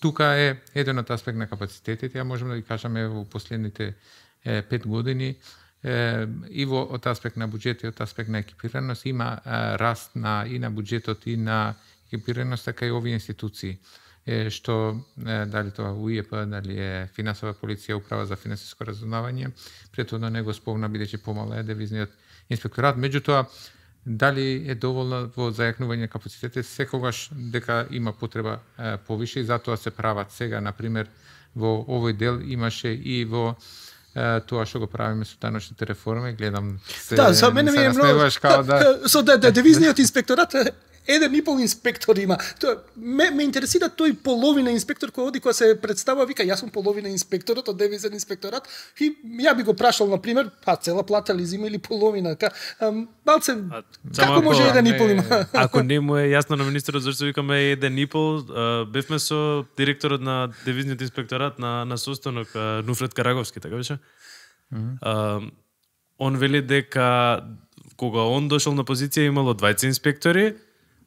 тука е еден од аспект на капацитетите, ја можеме да ги кажеме во последните е, пет години, е, и во од аспект на буџет и од аспект на екипираност има е, раст на и на буџетот и на екипираност, така и овие институции. Е, што е, дали тоа У И Е П, дали е финансова полиција, управа за финансиско разузнавање, претходно не го спомна бидејќи помало е девизниот инспекторат, меѓутоа дали е доволно во зајакнување капацитетите, секогаш дека има потреба е, повише и затоа се прават сега, например, во овој дел имаше и во е, тоа што го правиме со даночните реформи, гледам се
Да, за мене ми е многу
да
со да, да девизниот инспекторат еден и пол инспектор има. Тоа ме, ме интересира тој половина инспектор кој оди кога се представува, вика јас сум половина инспекторот од девизен инспекторат и ја би го прашал на пример, па цела плата ли зима или половина, ка балце како
ако,
може еден и пол има?
Ако не му е јасно на министерот зашто викаме еден и пол, бевме со директорот на девизниот инспекторат на на состанок Нуфрет Караговски, така беше? Mm -hmm. Он вели дека кога он дошол на позиција имало двајца инспектори,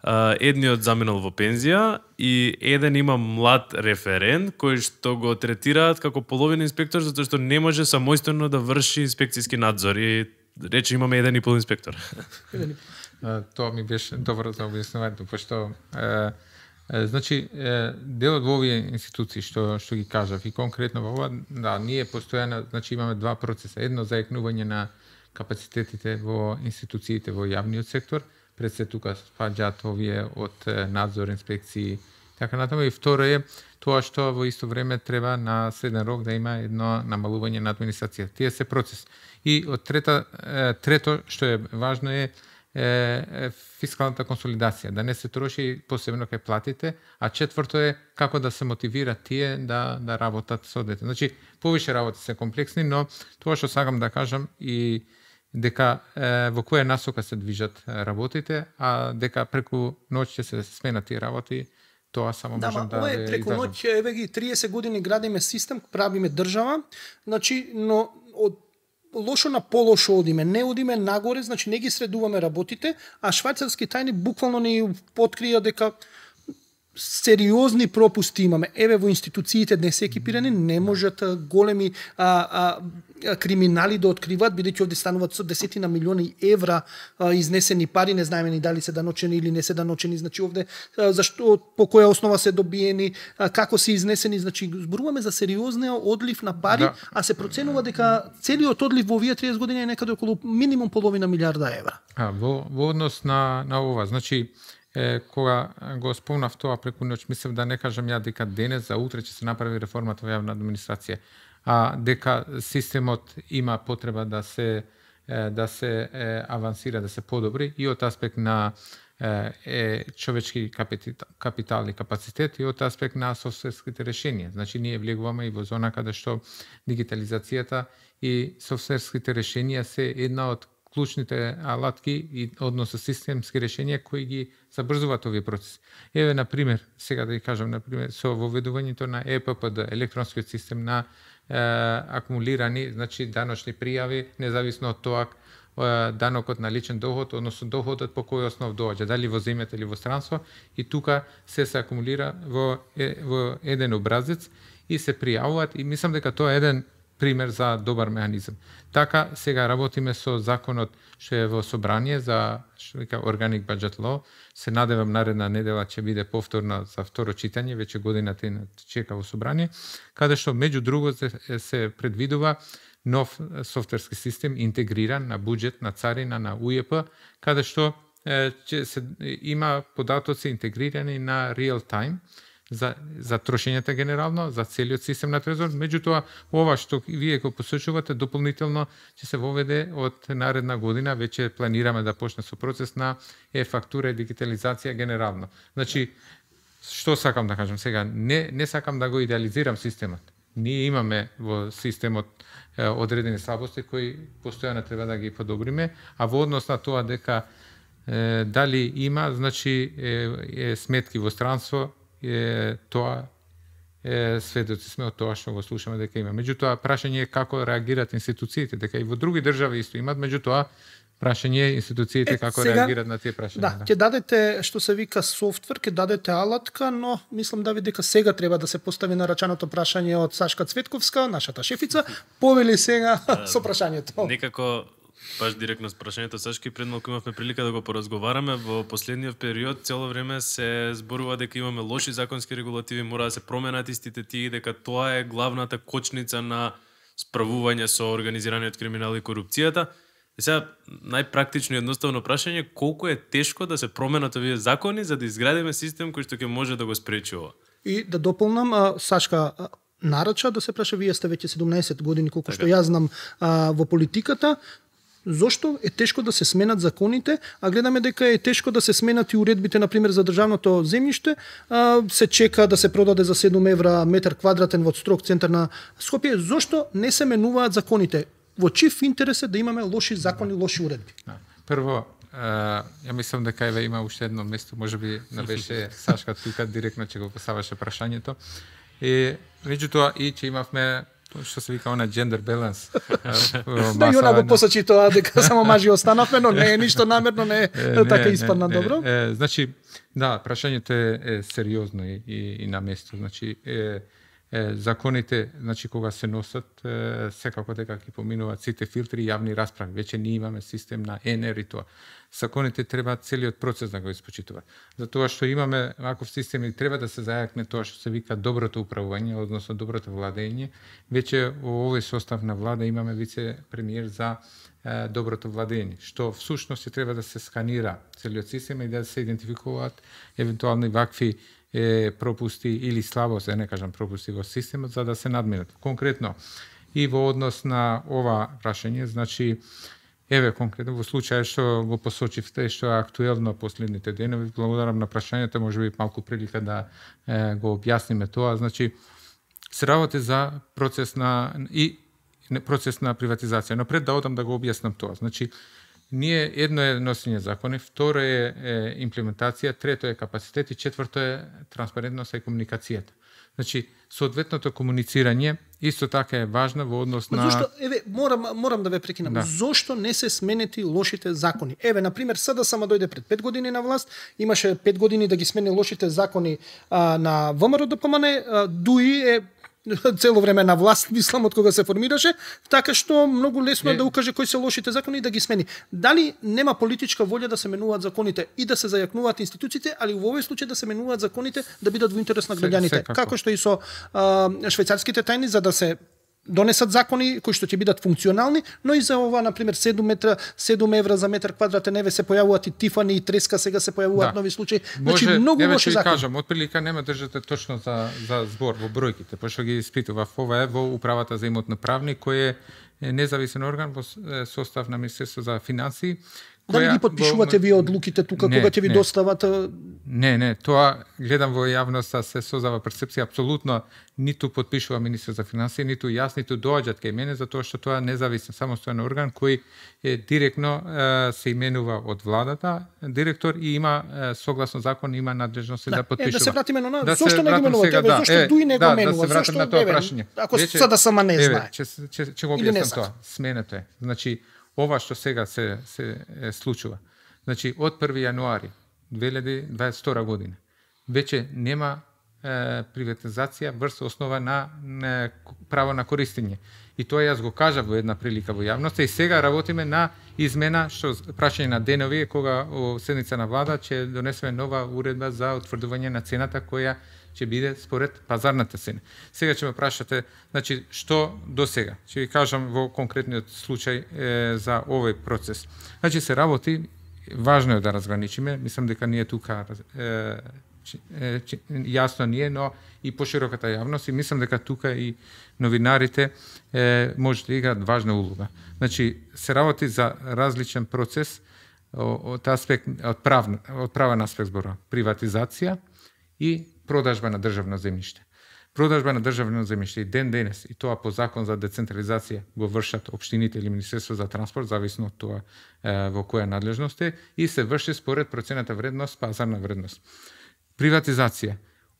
Uh, едниот заминал во пензија и еден има млад референт кој што го третираат како половина инспектор затоа што не може самостојно да врши инспекцијски надзор и рече имаме еден и пол инспектор.
uh, Тоа ми беше добро за објаснувањето, пошто uh, uh, значи uh, делот во овие институции што што ги кажав и конкретно во ова, да, ние постојано, значи имаме два процеса, едно зајакнување на капацитетите во институциите во јавниот сектор, пред се тука спаѓаат овие од надзор, инспекции, така натаму, и второ е тоа што во исто време треба на среден рок да има едно намалување на администрација. Тие се процес. И од трета, трето што е важно е, е фискалната консолидација, да не се троши посебно кај платите, а четврто е како да се мотивира тие да да работат со дете. Значи, повише работи се комплексни, но тоа што сакам да кажам и дека е, во која насока се движат работите, а дека преку ноќ ќе се сменат тие работи, тоа само
да,
можам да
ова е преку ноќ, еве ги триесет години градиме систем, правиме држава, значи, но од лошо на полошо одиме, не одиме нагоре, значи не ги средуваме работите, а швајцарски тајни буквално ни открија дека сериозни пропусти имаме. Еве во институциите не се екипирани, не можат големи а, а, криминали да откриваат, бидејќи овде стануваат со десетина милиони евра а, изнесени пари, не знаеме ни дали се даночени или не се даночени, значи овде а, зашто, по која основа се добиени, а, како се изнесени, значи зборуваме за сериозниот одлив на пари, да. А се проценува дека целиот одлив во овие триесет години е некаде околу минимум половина милиарда евра.
А, во, во однос на, на ова, значи Е, кога го спомнав тоа преку ноќ, мислев да не кажам ја дека денес за утре ќе се направи реформата во јавна администрација, а дека системот има потреба да се е, да се е, авансира, да се подобри и од аспект на е, е, човечки капитал, капитал и капацитет и од аспект на софтверските решенија. Значи ние влегуваме и во зона каде што дигитализацијата и софтверските решенија се една од клучните алатки и односно системски решенија кои ги забрзуваат овие процеси. Еве на пример, сега да ги кажам на пример со воведувањето на Е П П Д, електронскиот систем на е, акумулирани, значи даночни пријави, независно од тоа е, данокот на личен доход, односно доходот по кој основ доаѓа, дали во земјата или во странство, и тука се се акумулира во е, во еден образец и се пријавуваат и мислам дека тоа е еден пример за добар механизам. Така сега работиме со законот што е во собрание за што вика Organic Budget Law. Се надевам наредна недела ќе биде повторно за второ читање, веќе годината и чека во собрание, каде што меѓу друго се, се предвидува нов софтверски систем интегриран на буџет, на царина, на У И Е П, каде што е, ќе се има податоци интегрирани на real time за за трошењата генерално, за целиот систем на трезор. Меѓутоа, ова што вие го посочувате дополнително ќе се воведе од наредна година, веќе планираме да почне со процес на е-фактура и дигитализација генерално. Значи, што сакам да кажам сега, не не сакам да го идеализирам системот. Ние имаме во системот е, одредени слабости кои постојано треба да ги подобриме, а во однос на тоа дека е, дали има, значи е, е сметки во странство, е, тоа е, сведоци сме од тоа што го слушаме дека има. Меѓутоа, прашање е како реагираат институциите, дека и во други држави исто имат, меѓутоа, прашање институциите
Е,
како
сега-
реагираат на тие прашања.
Да, ќе дадете што се вика софтвер, ќе дадете алатка, но мислам да ви дека сега треба да се постави нарачаното прашање од Сашка Цветковска, нашата шефица, повели сега со прашањето.
Некако баш директно с прашањето Сашки, пред малку имавме прилика да го поразговараме. Во последниот период цело време се зборува дека имаме лоши законски регулативи, мора да се променат истите тие, дека тоа е главната кочница на справување со организираниот криминал и корупцијата. И сега, најпрактично и едноставно прашање, колку е тешко да се променат овие закони за да изградиме систем кој што ќе може да го спречи ова?
И да дополнам, а, Сашка а, нарача да се праша, вие сте веќе седумнаесет години, колку
Така.
што јас знам а, во политиката, зошто е тешко да се сменат законите, а гледаме дека е тешко да се сменат и уредбите, например, за државното земјиште, а, се чека да се продаде за седум евра метар квадратен во строг центар на Скопје, зошто не се менуваат законите? Во чив интерес е да имаме лоши закони, лоши уредби?
Да. Прво, Uh, ја мислам дека еве има уште едно место, можеби не беше Сашка тука директно ќе го поставаше прашањето. И меѓутоа и че имавме што се вика она gender balance.
Да, и она го посочи тоа дека само мажи останавме, но не е ништо намерно, не е така испадна добро.
Е, значи, да, прашањето е, е сериозно и, и, и на место. Значи, е, е, законите, значи кога се носат, е, секако дека ќе поминуваат сите филтри и јавни расправи. Веќе ние имаме систем на Е Н Р и тоа. Законите треба целиот процес да го испочитува. Затоа што имаме ваков систем и треба да се зајакне тоа што се вика доброто управување, односно доброто владење. Веќе во овој состав на влада имаме вице премиер за е, доброто владење, што всушност треба да се сканира целиот систем и да се идентификуваат евентуални вакви е, пропусти или слабост, да не кажам пропусти во системот, за да се надминат. Конкретно и во однос на ова прашање, значи еве конкретно во случај што го посочивте, што е актуелно последните денови, благодарам на прашањето, можеби малку прилика да е, го објасниме тоа. Значи се работи за процес на и процес на приватизација, но пред да одам да го објаснам тоа. Значи ние едно е носење закони, второ е, е имплементација, трето е капацитет и четврто е транспарентност и комуникацијата. Значи, соодветното комуницирање исто така е важно во однос на...
Зошто, еве, морам, морам да ве прекинам.
Да.
Зошто не се сменети лошите закони? Еве, например, СДСМ дојде пред пет години на власт, имаше пет години да ги смени лошите закони а, на ВМРО Д П М Н, а, ДУИ е цело време на власт, мислам, од кога се формираше, така што многу лесно е да укаже кои се лошите закони и да ги смени. Дали нема политичка волја да се менуваат законите и да се зајакнуваат институциите, али во овој случај да се менуваат законите да бидат во интерес на граѓаните,
секако.
како што и со а, швајцарските тајни, за да се донесат закони кои што ќе бидат функционални, но и за ова, например, седум метра, седум евра за метар квадратен, еве се појавуваат и Тифани и Треска, сега се појавуваат
Да.
нови случаи. Значи
Може,
многу
еве
лоши
ќе ви
закони.
кажам, отприлика нема држате точно за за збор во бројките, пошто ги испитував. Ова е во управата за имотно правни, кој е е независен орган во с- е, состав на Министерство за финансии.
Дали
која
ги подпишувате
во-
вие одлуките тука
Не,
кога ќе ви
не.
достават? а,
Не, не, тоа гледам во јавноста се создава перцепција, апсолутно ниту подпишува министер за финансии, ниту јас, ниту доаѓаат кај мене, затоа што тоа е независен, самостоен орган кој е директно е, се именува од владата, директор и има е, согласно закон има надлежност да,
Да,
да подпишува.
е, да се вратиме на
Да
зошто
се
не ги
вратам
менувате?
сега,
Еве,
да,
зошто
е,
Дуи не
да,
го менува?
Да, се вратам
Зошто,
на тоа
еве,
прашање.
ако
Веќе-
СДСМ не
еве,
знае?
Ќе, ќе, ќе го
Или не
објаснам
сака?
тоа. Сменето е. Значи, ова што сега се, се е, случува. Значи, од први јануари две илјади дваесет и втора година веќе нема е, приватизација врз основа на, на право на користење. И тоа јас го кажав во една прилика во јавноста и сега работиме на измена, што прашање на денови е кога во седница на влада ќе донесеме нова уредба за утврдување на цената која ќе биде според пазарната цена. Сега ќе ме прашате, значи, што до сега? Ќе ви кажам во конкретниот случај е, за овој процес. Значи, се работи, важно е да разграничиме, мислам дека ние тука е, е, јасно ние, но и пошироката јавност и мислам дека тука и новинарите е, може да играат важна улога. Значи, се работи за различен процес од аспект од правен од правен аспект збора, приватизација и продажба на државно земјиште. Продажба на државно земјиште и ден денес, и тоа по закон за децентрализација го вршат општините или Министерство за транспорт, зависно од тоа е, во која надлежност е, и се врши според процената вредност, пазарна вредност. Приватизација.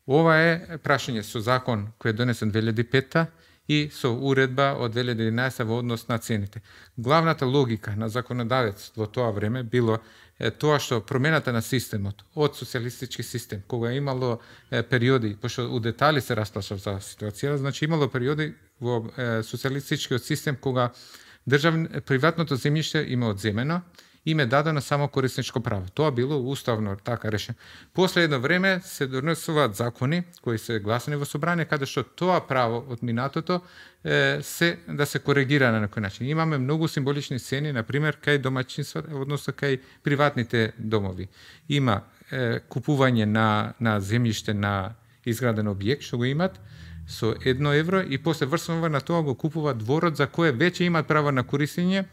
Ова е прашање со закон кој е донесен две илјади и пета и со уредба од две илјади и единаесетта во однос на цените. Главната логика на законодавец во тоа време било е тоа што промената на системот од социјалистички систем, кога имало е, периоди, пошто у детали се расплашав за ситуацијата, значи имало периоди во е, социјалистичкиот систем кога државно приватното земјиште има одземено, им е дадено само корисничко право. Тоа било уставно така решено. После едно време се донесуваат закони кои се гласани во собрание каде што тоа право од минатото е, се да се коригира на некој начин. Имаме многу символични сцени, на пример кај домаќинствата, односно кај приватните домови. Има е, купување на на земјиште на изграден објект што го имат со едно евро и после врснува на тоа го купува дворот за кое веќе имаат право на користење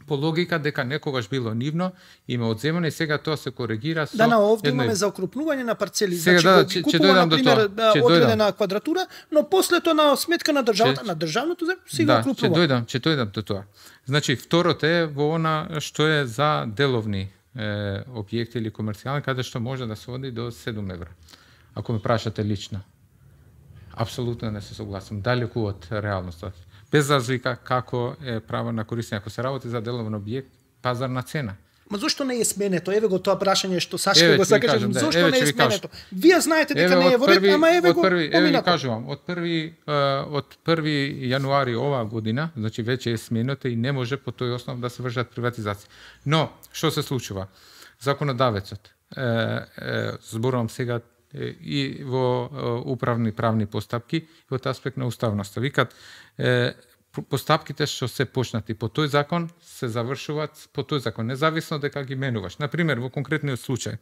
по логика дека некогаш било нивно, има одземено и сега тоа се коригира со
Да, на овде
едно...
имаме за окрупнување на парцели,
сега,
значи
да,
го
че,
купува
че
на пример
ќе
одредена квадратура, но после тоа на сметка на државата,
че,
на државното земјиште си
да,
го окрупнува.
ќе дојдам, ќе дојдам до тоа. Значи второто е во она што е за деловни е, објекти или комерцијални, каде што може да се оди до седум евра. Ако ме прашате лично. Апсолутно не се согласам. Далеку од реалноста. Без разлика како е право на користење. Ако се работи за деловен објект, пазарна цена.
Ма зошто не е сменето? Еве го тоа прашање што Сашко
еве,
го сакаше.
Да,
зошто
еве,
не е
ви
сменето? Вие знаете дека
еве,
не е во ред, ама еве
од
го
први, еве ви
поминато.
кажувам, од први од први јануари оваа година, значи веќе е сменето и не може по тој основ да се вршат приватизација. Но што се случува? Законодавецот е, е, зборувам сега и во управни правни постапки во аспект на уставноста. Викат е, постапките што се почнати по тој закон се завршуваат по тој закон, независно дека ги менуваш. На пример, во конкретниот случај,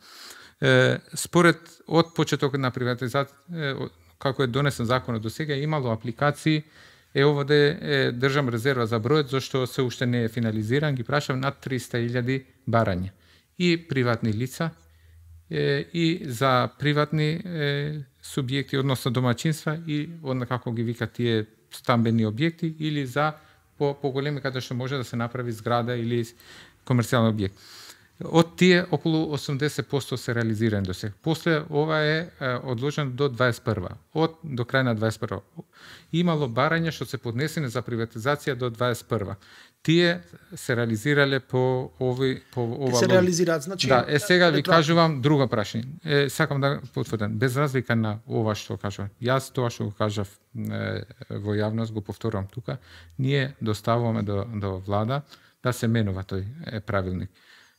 е, според од почетокот на приватизација, како е донесен законот до сега, имало апликации, е овде е, држам резерва за бројот, зашто се уште не е финализиран, ги прашав над триста илјади барања. И приватни лица, и за приватни е, субјекти, односно домаќинства и одна како ги викат тие стамбени објекти или за по поголеми каде што може да се направи зграда или комерцијален објект. Од тие околу осумдесет проценти се реализирани до сега. После ова е, е одложено до дваесет и прва. Од до крај на дваесет и прва. Имало барања што се поднесени за приватизација до дваесет и прва. Тие се реализирале по ови по ова.
Се реализираат, значи.
Да, е сега ви кажувам друго прашање. Е сакам да потврдам, без разлика на ова што кажувам. Јас тоа што го кажав е, во јавност го повторувам тука. Ние доставуваме до до влада да се менува тој е, правилник.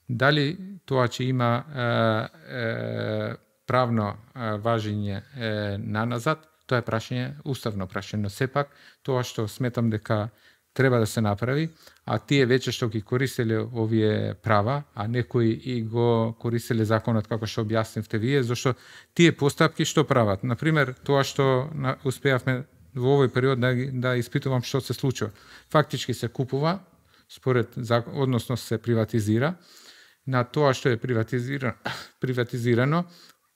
Дали тоа че има е, е, правно е, важење е, на назад, тоа е прашање, уставно прашање, но сепак тоа што сметам дека треба да се направи, а тие веќе што ги користеле овие права, а некои и го користеле законот како што објаснивте вие, зашто тие постапки што прават. Например, тоа што успеавме во овој период да, да испитувам што се случува. Фактички се купува, според закон, односно се приватизира, на тоа што е приватизирано, приватизирано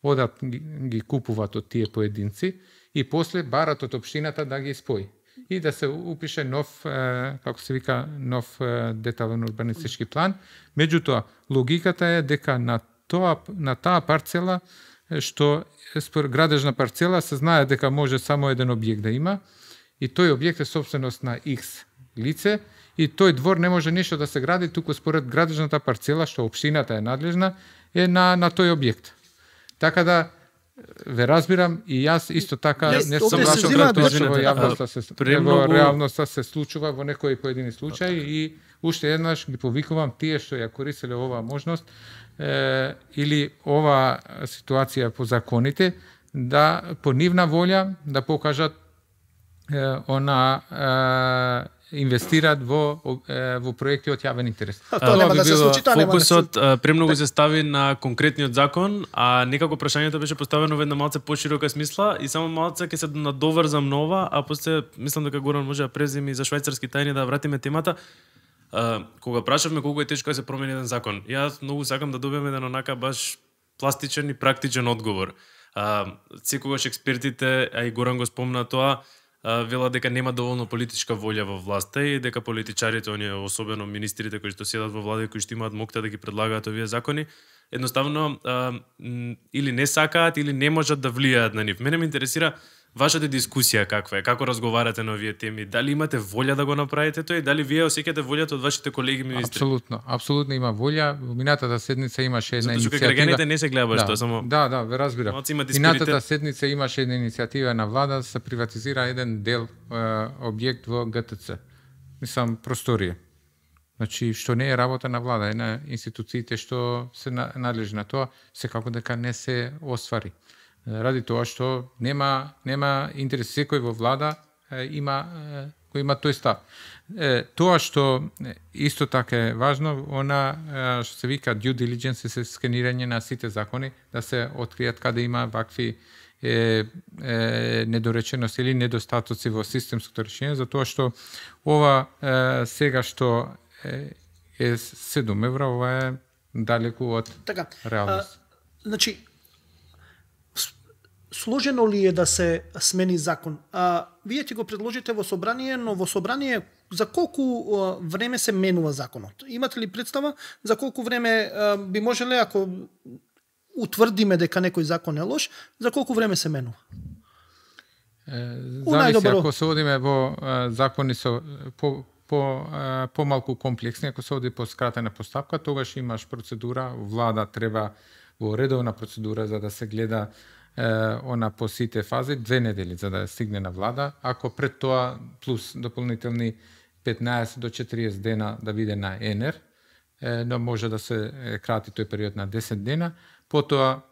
одат ги, ги купуваат од тие поединци и после барат од општината да ги спои и да се упише нов, е, како се вика, нов е, детален урбанистички план. Меѓутоа, логиката е дека на тоа на таа парцела што според градежна парцела се знае дека може само еден објект да има и тој објект е собственост на X лице и тој двор не може ништо да се гради туку според градежната парцела што општината е надлежна е на на тој објект. Така да ве разбирам и јас исто така
yes,
не сум лашо тоа што во јавноста се во реалноста се случува во некои поедини случаи и уште еднаш ги повикувам тие што ја користеле оваа можност е, или оваа ситуација по законите да по нивна волја да покажат е, она е, инвестираат во во проекти од јавен интерес.
А, тоа нема да се случи, тоа нема да се
Фокусот премногу се стави на конкретниот закон, а некако прашањето беше поставено во една малце поширока смисла и само малце ќе се надоврзам на ова, а после мислам дека Горан може да преземи за швајцарски тајни да вратиме темата. Uh, кога прашавме колку е тешко да се промени еден закон, јас многу сакам да добиам еден онака баш пластичен и практичен одговор. Uh, секогаш експертите, а и Горан го спомна тоа, uh, вела дека нема доволно политичка волја во власта и дека политичарите, оние особено министрите кои што седат во влада и кои што имаат мокта да ги предлагаат овие закони, едноставно uh, или не сакаат или не можат да влијаат на нив. Мене ме интересира вашата дискусија каква е? Како разговарате на овие теми? Дали имате волја да го направите тоа и дали вие осеќате волјата од вашите колеги министри?
Апсолутно, апсолутно има волја. Минатата седница имаше една
Затоа што
иницијатива.
граѓаните не се гледа баш
да,
тоа, само
Да, да, ве разбирам.
малку имате
Минатата
спиритет.
седница имаше една иницијатива на влада да се приватизира еден дел е, објект во Г Т Ц. Мислам просторија. Значи што не е работа на влада, е на институциите што се надлежни на тоа, секако дека не се оствари. Ради тоа што нема нема интерес, секој во влада е, има е, кој има тој став. Е, тоа што исто така е важно, она е, што се вика due diligence, се сканирање на сите закони, да се откријат каде има вакви е, е, недоречености или недостатоци во системското решение, затоа што ова е, сега што е, е седум евра, ова е далеку од
Така,
реалност.
а, значи, сложено ли е да се смени закон? А, вие ќе го предложите во собрание, но во собрание за колку а, време се менува законот? Имате ли представа за колку време а, би можеле, ако утврдиме дека некој закон е лош, за колку време се менува?
Е,
У
зависи,
најдобро.
ако се одиме во е, закони со по по е, помалку комплексни, ако се оди по скратена постапка, тогаш имаш процедура, влада треба во редовна процедура за да се гледа е, она по сите фази, две недели за да стигне на влада, ако пред тоа плюс дополнителни петнаесет до четириесет дена да биде на Е Н Ер, е, но може да се е, крати тој период на десет дена, потоа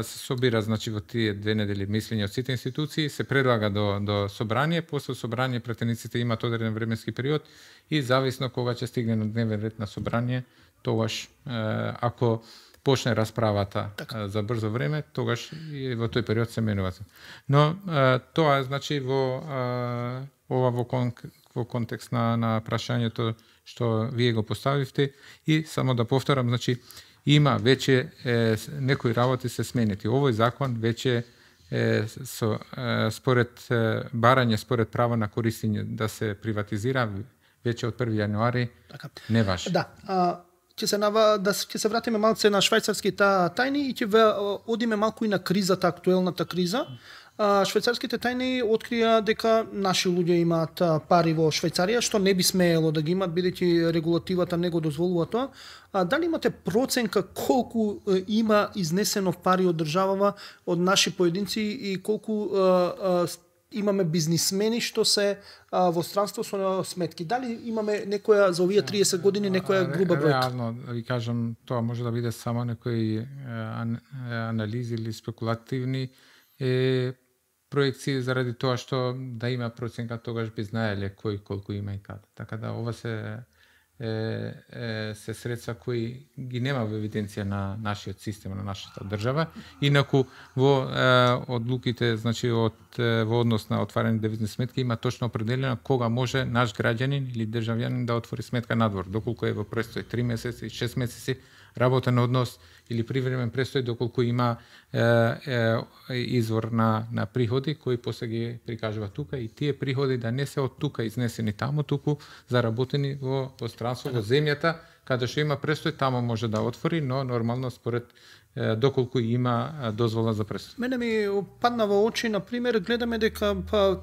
се собира, значи, во тие две недели мислење од сите институции, се предлага до, до собрание, после собрание пратениците имаат одреден временски период и зависно кога ќе стигне на дневен ред на собрание, тогаш, ако почне расправата така. За брзо време, тогаш и во тој период се менува. Но тоа е, значи, во ова во, кон, во контекст на, на прашањето што вие го поставивте и само да повторам, значи, има веќе е, некои работи се сменети. Овој закон веќе е, со, е, според е, барање, според право на користење да се приватизира веќе од први јануари
Така.
не важи.
Да, а, ќе се нава да ќе се вратиме малце на швајцарските тајни и ќе одиме малку и на кризата, актуелната криза. А, швајцарските тајни открија дека наши луѓе имаат пари во Швајцарија, што не би смеело да ги имат, бидејќи регулативата не го дозволува тоа. А, дали имате проценка колку е, има изнесено пари од државава, од наши поединци и колку е, е, имаме бизнисмени што се а, во странство со сметки? Дали имаме некоја за овие триесет години некоја груба бројка?
Реално, да ви кажам, тоа може да биде само некои ан, анализи или спекулативни е, проекции заради тоа што да има проценка, тогаш би знаеле кој колку има и каде. Така да ова се е, е, се средства кои ги нема во евиденција на нашиот систем, на нашата држава. Инаку во е, одлуките, значи од е, во однос на отварени девизни сметки има точно определено кога може наш граѓанин или државјанин да отвори сметка надвор, доколку е во престој три месеци, шест месеци работен однос или привремен престој, доколку има е, е, извор на, на приходи кои после ги прикажува тука и тие приходи да не се од тука изнесени таму, туку заработени во пространство, во земјата, каде што има престој, таму може да отвори, но нормално според е, доколку има дозвола за престој.
Мене ми падна во очи, на пример, гледаме дека па,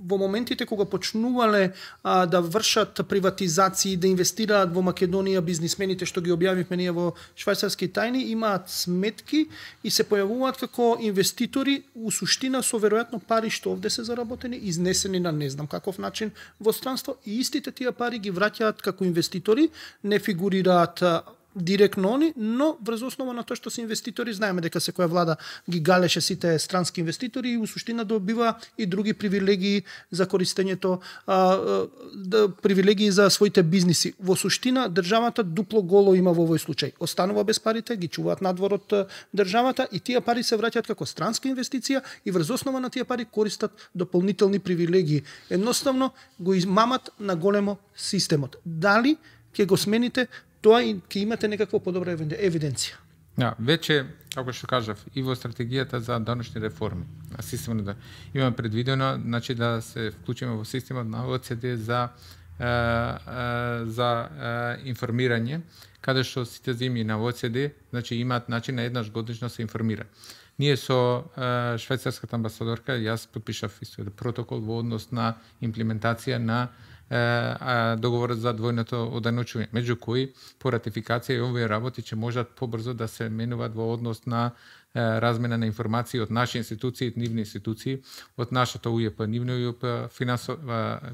во моментите кога почнувале а, да вршат приватизации, да инвестираат во Македонија бизнисмените што ги објавивме ние во швајцарски тајни, имаат сметки и се појавуваат како инвеститори, у суштина со веројатно пари што овде се заработени, изнесени на не знам каков начин во странство, и истите тие пари ги враќаат како инвеститори, не фигурираат директно они, но врз основа на тоа што се инвеститори, знаеме дека секоја влада ги галеше сите странски инвеститори и у суштина добива и други привилегии за користењето, а, да, привилегии за своите бизниси. Во суштина државата дупло голо има во овој случај. Останува без парите, ги чуваат надвор од државата и тие пари се враќаат како странска инвестиција и врз основа на тие пари користат дополнителни привилегии. Едноставно го измамат на големо системот. Дали ќе го смените тоа и ќе имате некаква подобра евиденција?
Да, веќе, како што кажав, и во стратегијата за даночни реформи, на системот да имаме предвидено, значи да се вклучиме во системот на О Е Це Де за е, е, за е, информирање, каде што сите земји на О Е Це Де, значи имаат начин на еднаш годишно се информира. Ние со е, швајцарската амбасадорка јас подпишав исто протокол во однос на имплементација на е, договорот за двојното оданочување, меѓу кои по ратификација и овие работи ќе можат побрзо да се менуваат во однос на е, размена на информации од наши институции, нивни институции, од нашата У Ј П, нивно У Ј П, финанс,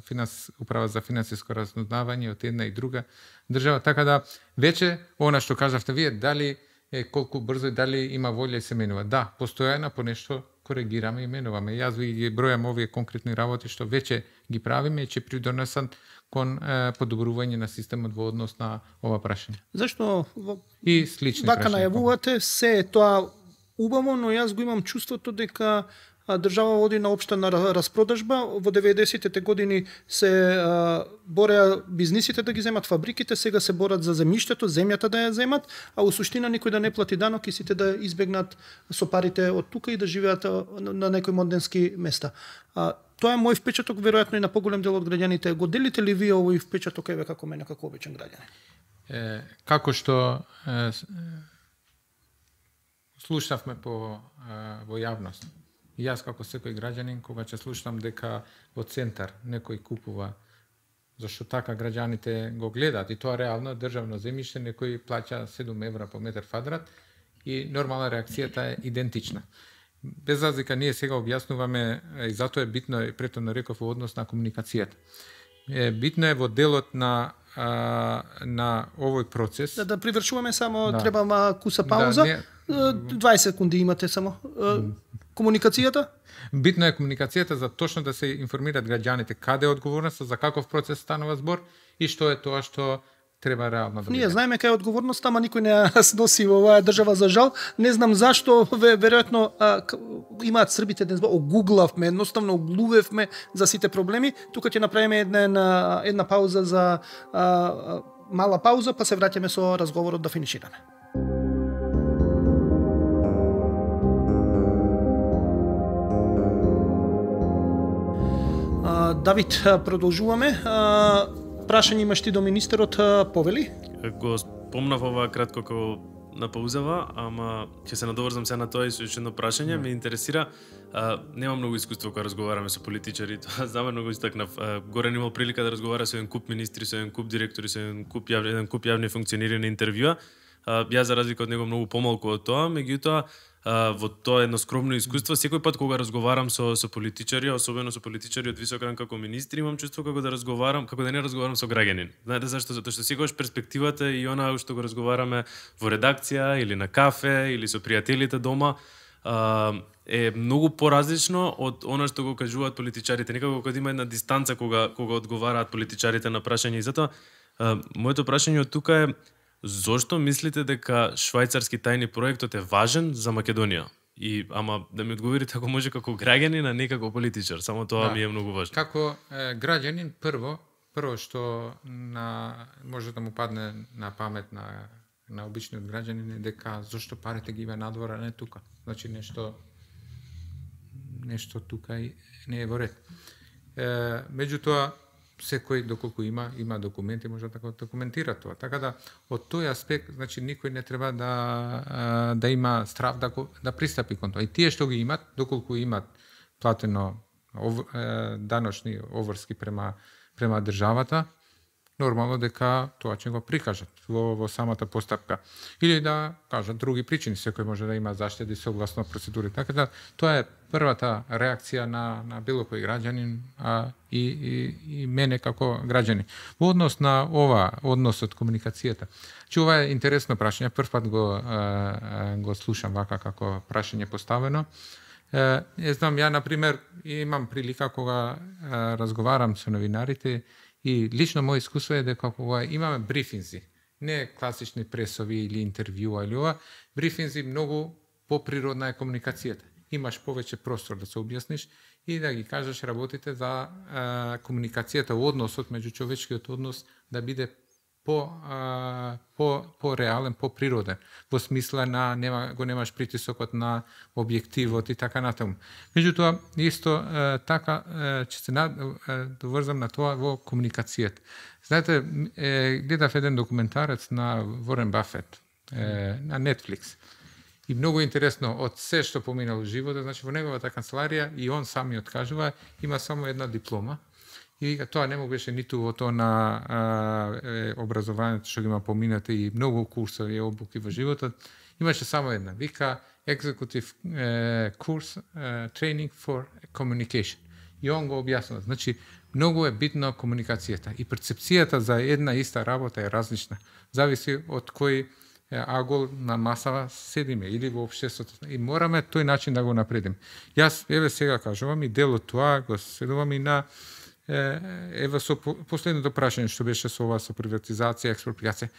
финанс, управа за финансиско разузнавање од една и друга држава, така да веќе она што кажавте вие, дали е колку брзо и дали има волја и се менува. Да, постојано по нешто коригираме и менуваме. Јас ви ги бројам овие конкретни работи што веќе ги правиме и ќе придонесат кон е, подобрување на системот во однос на ова прашање.
Зашто во...
И слични
вака
прашања.
најавувате, се е тоа убаво, но јас го имам чувството дека држава води на општена распродажба. Во деветдесетите години се а, бореа бизнисите да ги земат фабриките, сега се борат за земјиштето, земјата да ја земат, а у суштина никој да не плати данок и сите да избегнат со парите од тука и да живеат на, на некои моденски места. А, тоа е мој впечаток, веројатно и на поголем дел од граѓаните. Го делите ли вие овој впечаток, еве како мене, како обичен граѓанин?
Е, како што е, слушавме по е, во јавност. И јас како секој граѓанин, кога ќе слушам дека во центар некој купува, зашто така граѓаните го гледаат, и тоа реално државно земјиште, некој плаќа седум евра по метар квадрат и нормална реакцијата е идентична. Без разлика, ние сега објаснуваме, и затоа е битно, и претhodно реков, во однос на комуникацијата. Е, битно е во делот на а, на овој процес.
Да, да привршуваме само,
да.
треба ма куса пауза.
Да, не...
дваесет секунди имате само. Комуникацијата?
Битно е комуникацијата за точно да се информираат граѓаните каде е одговорноста, за каков процес станува збор и што е тоа што треба реално да биде.
Ние знаеме кај е одговорноста, ама никој не ја сноси во оваа држава, за жал. Не знам зашто, веројатно имаат србите днес, огуглавме, едноставно оглувевме за сите проблеми. Тука ќе направиме една една пауза за а, мала пауза, па се враќаме со разговорот да финишираме. Давид, продолжуваме. Прашање имаш ти до министерот, повели?
Го спомнав ова кратко како на паузава, ама ќе се надоврзам се на тоа и со уште едно прашање. Ме интересира, а, немам многу искуство кога разговараме со политичари, тоа замерно го истакнав. Горен имал прилика да разговара со еден куп министри, со еден куп директори, со еден куп јавни, еден куп јавни функционери на интервјуа. Јас за разлика од него многу помалку од тоа, меѓутоа во тоа едно скромно искуство, секој пат кога разговарам со со политичари, особено со политичари од висок ранг како министри, имам чувство како да разговарам, како да не разговарам со граѓанин. Знаете зашто? Затоа што секогаш перспективата и она што го разговараме во редакција или на кафе или со пријателите дома е многу поразлично од она што го кажуваат политичарите. Некако кога има една дистанца кога кога одговараат политичарите на прашања, и затоа моето прашање од тука е: зошто мислите дека швајцарски тајни проектот е важен за Македонија? И ама да ми одговорите ако може како граѓанин, а не како политичар. Само тоа да. Ми е многу важно.
Како е, граѓанин, прво, прво што на може да му падне на памет на на обичниот граѓанин е дека зошто парите ги има надвор, а не тука. Значи нешто нешто тука и не е во ред. Е, меѓутоа секој доколку има има документи може да го документира тоа. Така да од тој аспект, значи никој не треба да да има страв да да пристапи кон тоа. И тие што ги имат, доколку имат платено ов, даночни оврски према према државата, нормално дека тоа ќе го прикажат во, во самата постапка. Или да кажат други причини, секој може да има заштеди согласно процедури. Така да тоа е првата реакција на на било кој граѓанин, а и и и мене како граѓанин. Во однос на ова, односот комуникацијата. Че ова е интересно прашање, прв пат го а, го слушам вака како прашање поставено. Е, знам, ја на пример имам прилика кога а, разговарам со новинарите. И лично моје искуство е дека кога имаме брифинзи, не класични пресови или интервјуа или ова, брифинзи многу поприродна е комуникацијата. Имаш повеќе простор да се објасниш и да ги кажеш работите за а, комуникацијата, односот меѓу човечкиот однос да биде по а, по по реален, по природен, во смисла на нема го немаш притисокот на објективот и така натаму. Меѓутоа исто е, така е, ќе се доврзам на тоа во комуникацијата. Знаете, е, гледав еден документарец на Ворен Бафет е, на Netflix. И многу интересно, од се што поминал животот, значи во неговата канцеларија и он сами откажува, има само една диплома. И вика, тоа не му беше ниту во тоа на а, е, образованието што ги има поминате и многу курсови и обуки во животот. Имаше само една. Вика, Executive uh, Course uh, Training for Communication. И он го објаснува. Значи, многу е битно комуникацијата. И перцепцијата за една иста работа е различна. Зависи од кој агол на масава седиме или во општеството. И мораме тој начин да го напредим. Јас, еве сега кажувам, и дел од тоа го следувам и на еве со последното прашање што беше со ова со приватизација, експроприација.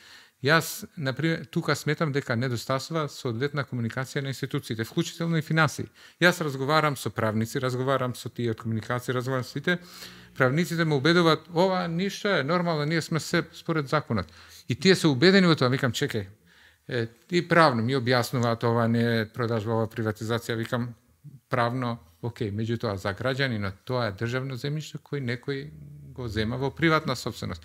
Јас, например, тука сметам дека недостасува соодветна комуникација на институциите, вклучително и финансии. Јас разговарам со правници, разговарам со тие од комуникација, разговарам со тие. Правниците ме убедуваат, ова ништо е нормално, ние сме се според законот. И тие се убедени во тоа, викам, чекај. Е, и правно ми објаснуваат, ова не е продажба, ова приватизација, викам, правно, окей, меѓутоа за граѓанинот тоа е државно земјиште кој некој го зема во приватна собственост.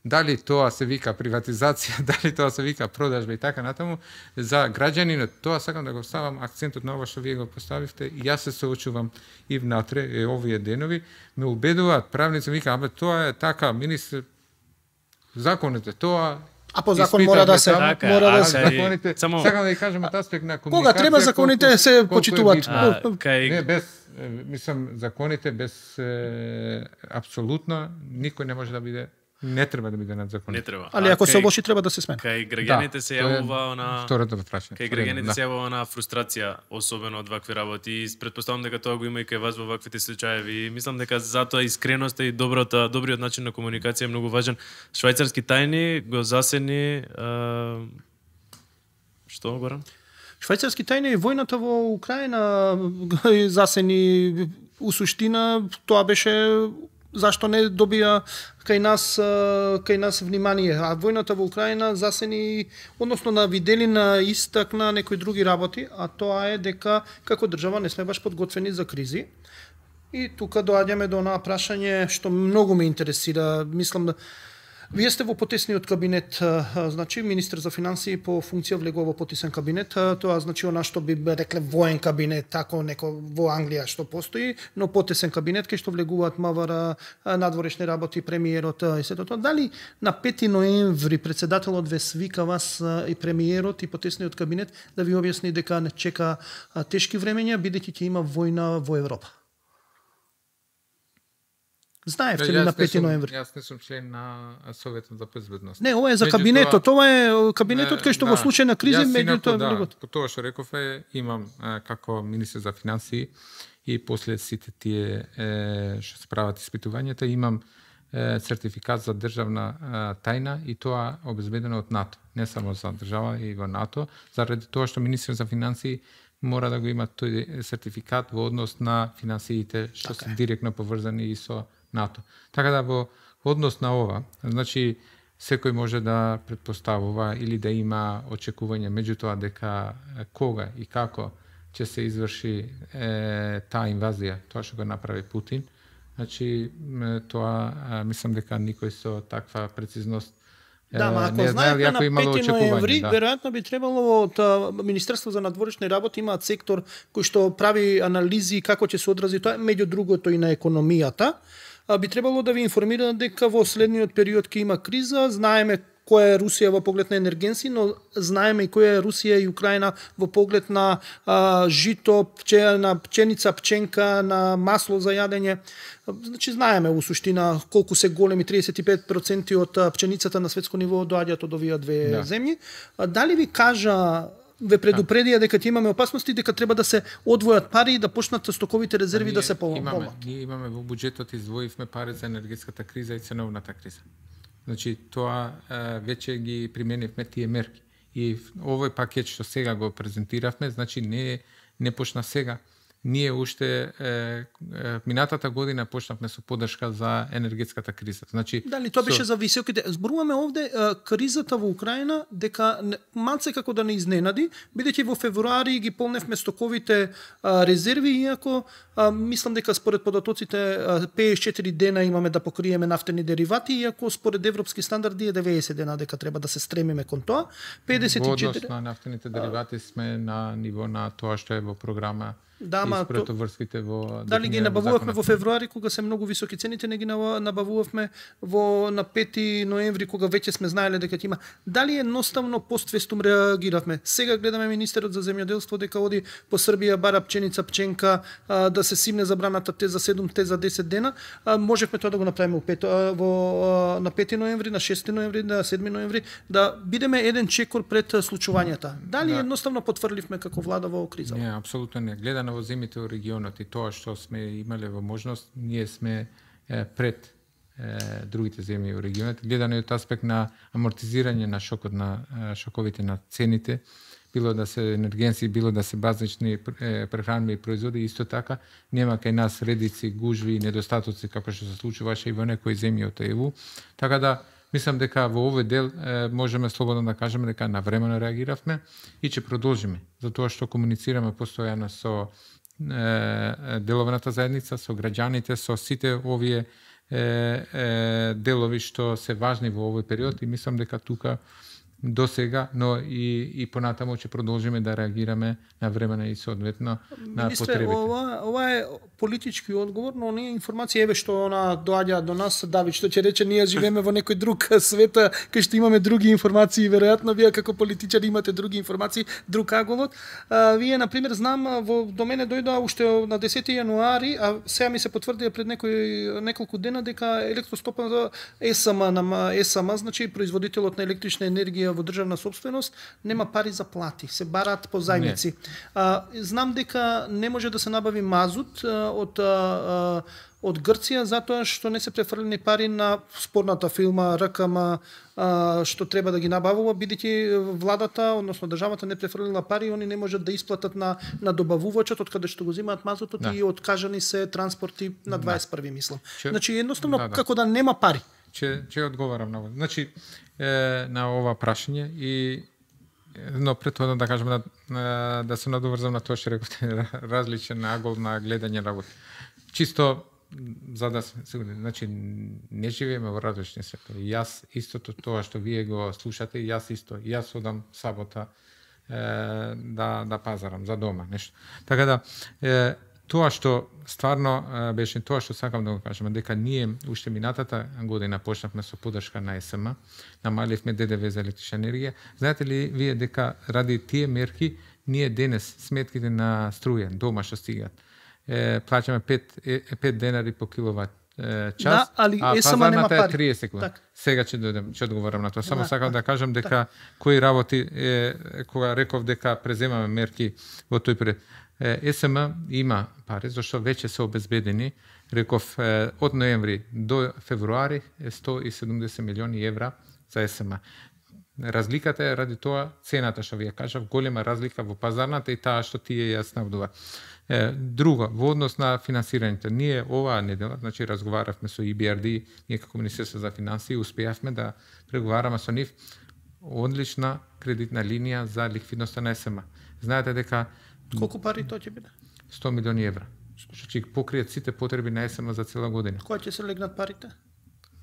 Дали тоа се вика приватизација, дали тоа се вика продажба и така натаму, за граѓанинот, тоа сакам да го ставам акцентот на ова што вие го поставивте, и јас се соочувам и внатре, е, овие денови, ме убедуваат правници, вика, абе тоа е така, министр, законот е тоа,
а по закон мора да се
така,
мора да
а,
се
кај-
законите,
само-
сакам да ја кажам од аспект на комуникација.
Кога треба законите
колку-
се
колку е
почитуваат.
битно.
А, кај
Не, без, е, мислам, законите без е, апсолутно никој не може да биде, не треба да биде над
не
законите.
треба.
Али
А
ако се
кај-
лоши треба да се смени.
Кај граѓаните се
тоа е
јавува она
Второто прашање.
Кај
Второто,
граѓаните
да.
се јавува на фрустрација, особено од вакви работи. И претпоставам дека тоа го има и кај вас во ваквите случаеви. И мислам дека затоа искреноста и добрата, добриот начин на комуникација е многу важен. Швајцарски тајни го засени а... што Горан?
Швајцарски тајни и војната во Украина засени у суштина, тоа беше зашто не добија кај нас кај нас внимание, а војната во Украина засени, односно на видели на истакна некои други работи, а тоа е дека како држава не сме баш подготвени за кризи. И тука доаѓаме до онаа прашање што многу ме интересира, мислам да вие сте во потесниот кабинет, а, значи министер за финансии по функција влегува во потесен кабинет, а, тоа значи она што би рекле воен кабинет, тако неко во Англија што постои, но потесен кабинет кај што влегуваат МВР, а, надворешни работи, премиерот а, и сето тоа. Дали на пети ноември претседателот ве свика вас а, и премиерот и потесниот кабинет да ви објасни дека не чека а, тешки времења бидејќи ќе има војна во Европа? Знаевте ли
Јас
на
не
пети
сум-
ноември?
Јас не сум член на Советот за безбедност.
Не, ова е за
Меѓутоа,
кабинетот, ова е кабинетот кај што во
да,
случај на кризи
јас
меѓу
инаку,
тоа
да,
влегот.
по тоа што рекове, имам а, како министер за финансии и после сите тие е, што се прават испитувањата, имам е, сертификат за државна а, тајна и тоа обезбедено од НАТО, не само за држава и во НАТО, заради тоа што министер за финансии мора да го има тој сертификат во однос на финансиите што се директно поврзани и со НАТО. Така да во однос на ова, значи секој може да претпоставува или да има очекување, меѓутоа дека кога и како ќе се изврши е, таа инвазија, тоа што го направи Путин, значи тоа а, мислам дека никој со таква прецизност
Да, ма ако
не знае
знаете
ако
на
имало
пети
очекување,
ноември,
да.
веројатно би требало од а, Министерство за надворешни работи имаат сектор кој што прави анализи како ќе се одрази тоа, меѓу другото и на економијата. А, би требало да ви информира дека во следниот период ќе има криза, знаеме која е Русија во поглед на енергенси, но знаеме и која е Русија и Украина во поглед на а, жито, пче, на пченица, пченка, на масло за јадење. Значи знаеме у суштина колку се големи, триесет и пет проценти од а, пченицата на светско ниво доаѓаат од овие две
Да.
земји. А, дали ви кажа ве предупредија дека ќе имаме опасности, дека треба да се одвојат пари и да почнат стоковите резерви да се
имаме,
помалат?
ние имаме во буџетот издвоивме пари за енергетската криза и ценовната криза. Значи тоа е, веќе ги применивме тие мерки. И овој пакет што сега го презентиравме, значи не не почна сега. ние уште е, е, минатата година почнавме со поддршка за енергетската криза. Значи
Дали тоа беше
со...
за високите? Зборуваме овде а, кризата во Украина дека малце како да не изненади, бидејќи во февруари ги полневме стоковите а, резерви, иако а, мислам дека според податоците а, петдесет и четири дена имаме да покриеме нафтени деривати, иако според европски стандарди е деветдесет дена дека треба да се стремиме кон тоа. педесет и четири...
Во однос на нафтените деривати сме на ниво на тоа што е во програма.
Да, ма
то... врските во
дали ги набавувавме во февруари кога се многу високи цените, не ги набавувавме во на пети ноември кога веќе сме знаеле дека ќе има. Дали едноставно поствестум реагиравме? Сега гледаме министерот за земјоделство дека оди по Србија бара пченица, пченка, а, да се симне забраната те за седум, те за десет дена. А, можевме тоа да го направиме во, пет, а, во а, на пети ноември, на шести ноември, на седми ноември, да бидеме еден чекор пред случувањата. Дали да. едноставно потврдивме како влада во криза?
Не, апсолутно не. Гледано во земјите во регионот и тоа што сме имале во можност, ние сме е, пред е, другите земји во регионот. Гледано и од аспект на амортизирање на шокот на е, шоковите на цените, било да се енергенци, било да се базични е, прехранби и производи, исто така нема кај нас редици, гужви и недостатоци како што се случуваше и во некои земји од Е У. Така да мислам дека во овој дел е, можеме слободно да кажеме дека навремено реагиравме и ќе продолжиме, затоа што комуницираме постојано со деловната заедница, со граѓаните, со сите овие е, е, делови што се важни во овој период и мислам дека тука до сега, но и, и понатамо ќе продолжиме да реагираме на времено и соодветно на
Министре,
потребите.
ова, ова е политички одговор, но оние информации еве што она доаѓа до нас, Давид, што ќе рече ние живееме во некој друг свет, кај што имаме други информации, веројатно вие како политичари имате други информации, друг аголот. А, вие на пример знам во до мене дојдоа уште на десети јануари, а сега ми се потврдија пред некој неколку дена дека електростопа за Е С М на Е С М, значи производителот на електрична енергија во државна собственост, нема пари за плати, се бараат по зајмици. А, знам дека не може да се набави мазут а, од а, од Грција затоа што не се префрлени пари на спорната филма Р К М а, што треба да ги набавува, бидејќи владата, односно државата не префрлила пари, они не можат да исплатат на на добавувачот од каде што го земаат мазутот да. И откажани се транспорти на дваесет и први мислам. Че... Значи едноставно да, да. како да нема пари.
Че че одговарам на ова. Значи е, на ова прашање и но претходно да кажам на, на, да се надоврзам на тоа што рековте, различен агол на гледање работи. Чисто за да сме сигурни, значи не живееме во различни светови. Јас истото тоа што вие го слушате, јас исто, јас одам сабота е, да да пазарам за дома, нешто. Така да е, тоа што стварно беше тоа што сакам да го кажам, дека ние уште минатата година почнавме со поддршка на Е С М, намаливме Д Д В за електрична енергија. Знаете ли вие дека ради тие мерки ние денес сметките на струја дома што стигаат е, плаќаме пет денари по киловат е, час,
да, али
а
Е С М нема
пазарната
пари.
е триесет секунди.
Так.
Сега ќе дојдем, ќе одговорам на тоа. Само
Да,
сакам да кажам дека
так.
кои работи е, кога реков дека преземаме мерки во тој период. Е С М има пари, зашто веќе се обезбедени, реков, од ноември до февруари е сто и седумдесет милиони евра за Е С М. Разликата е ради тоа цената што вие кажав, голема разлика во пазарната и таа што тие ја снабдува. Друго, во однос на финансирањето, ние оваа недела, значи разговаравме со И Б Р Д, ние како Министерство за финансии успеавме да преговараме со нив одлична кредитна линија за ликвидноста на Е С М. Знаете дека
Колку пари тоа ќе биде?
сто милиони евра, што ќе покријат сите потреби на Е С М за цела година.
Кога ќе се легнат парите?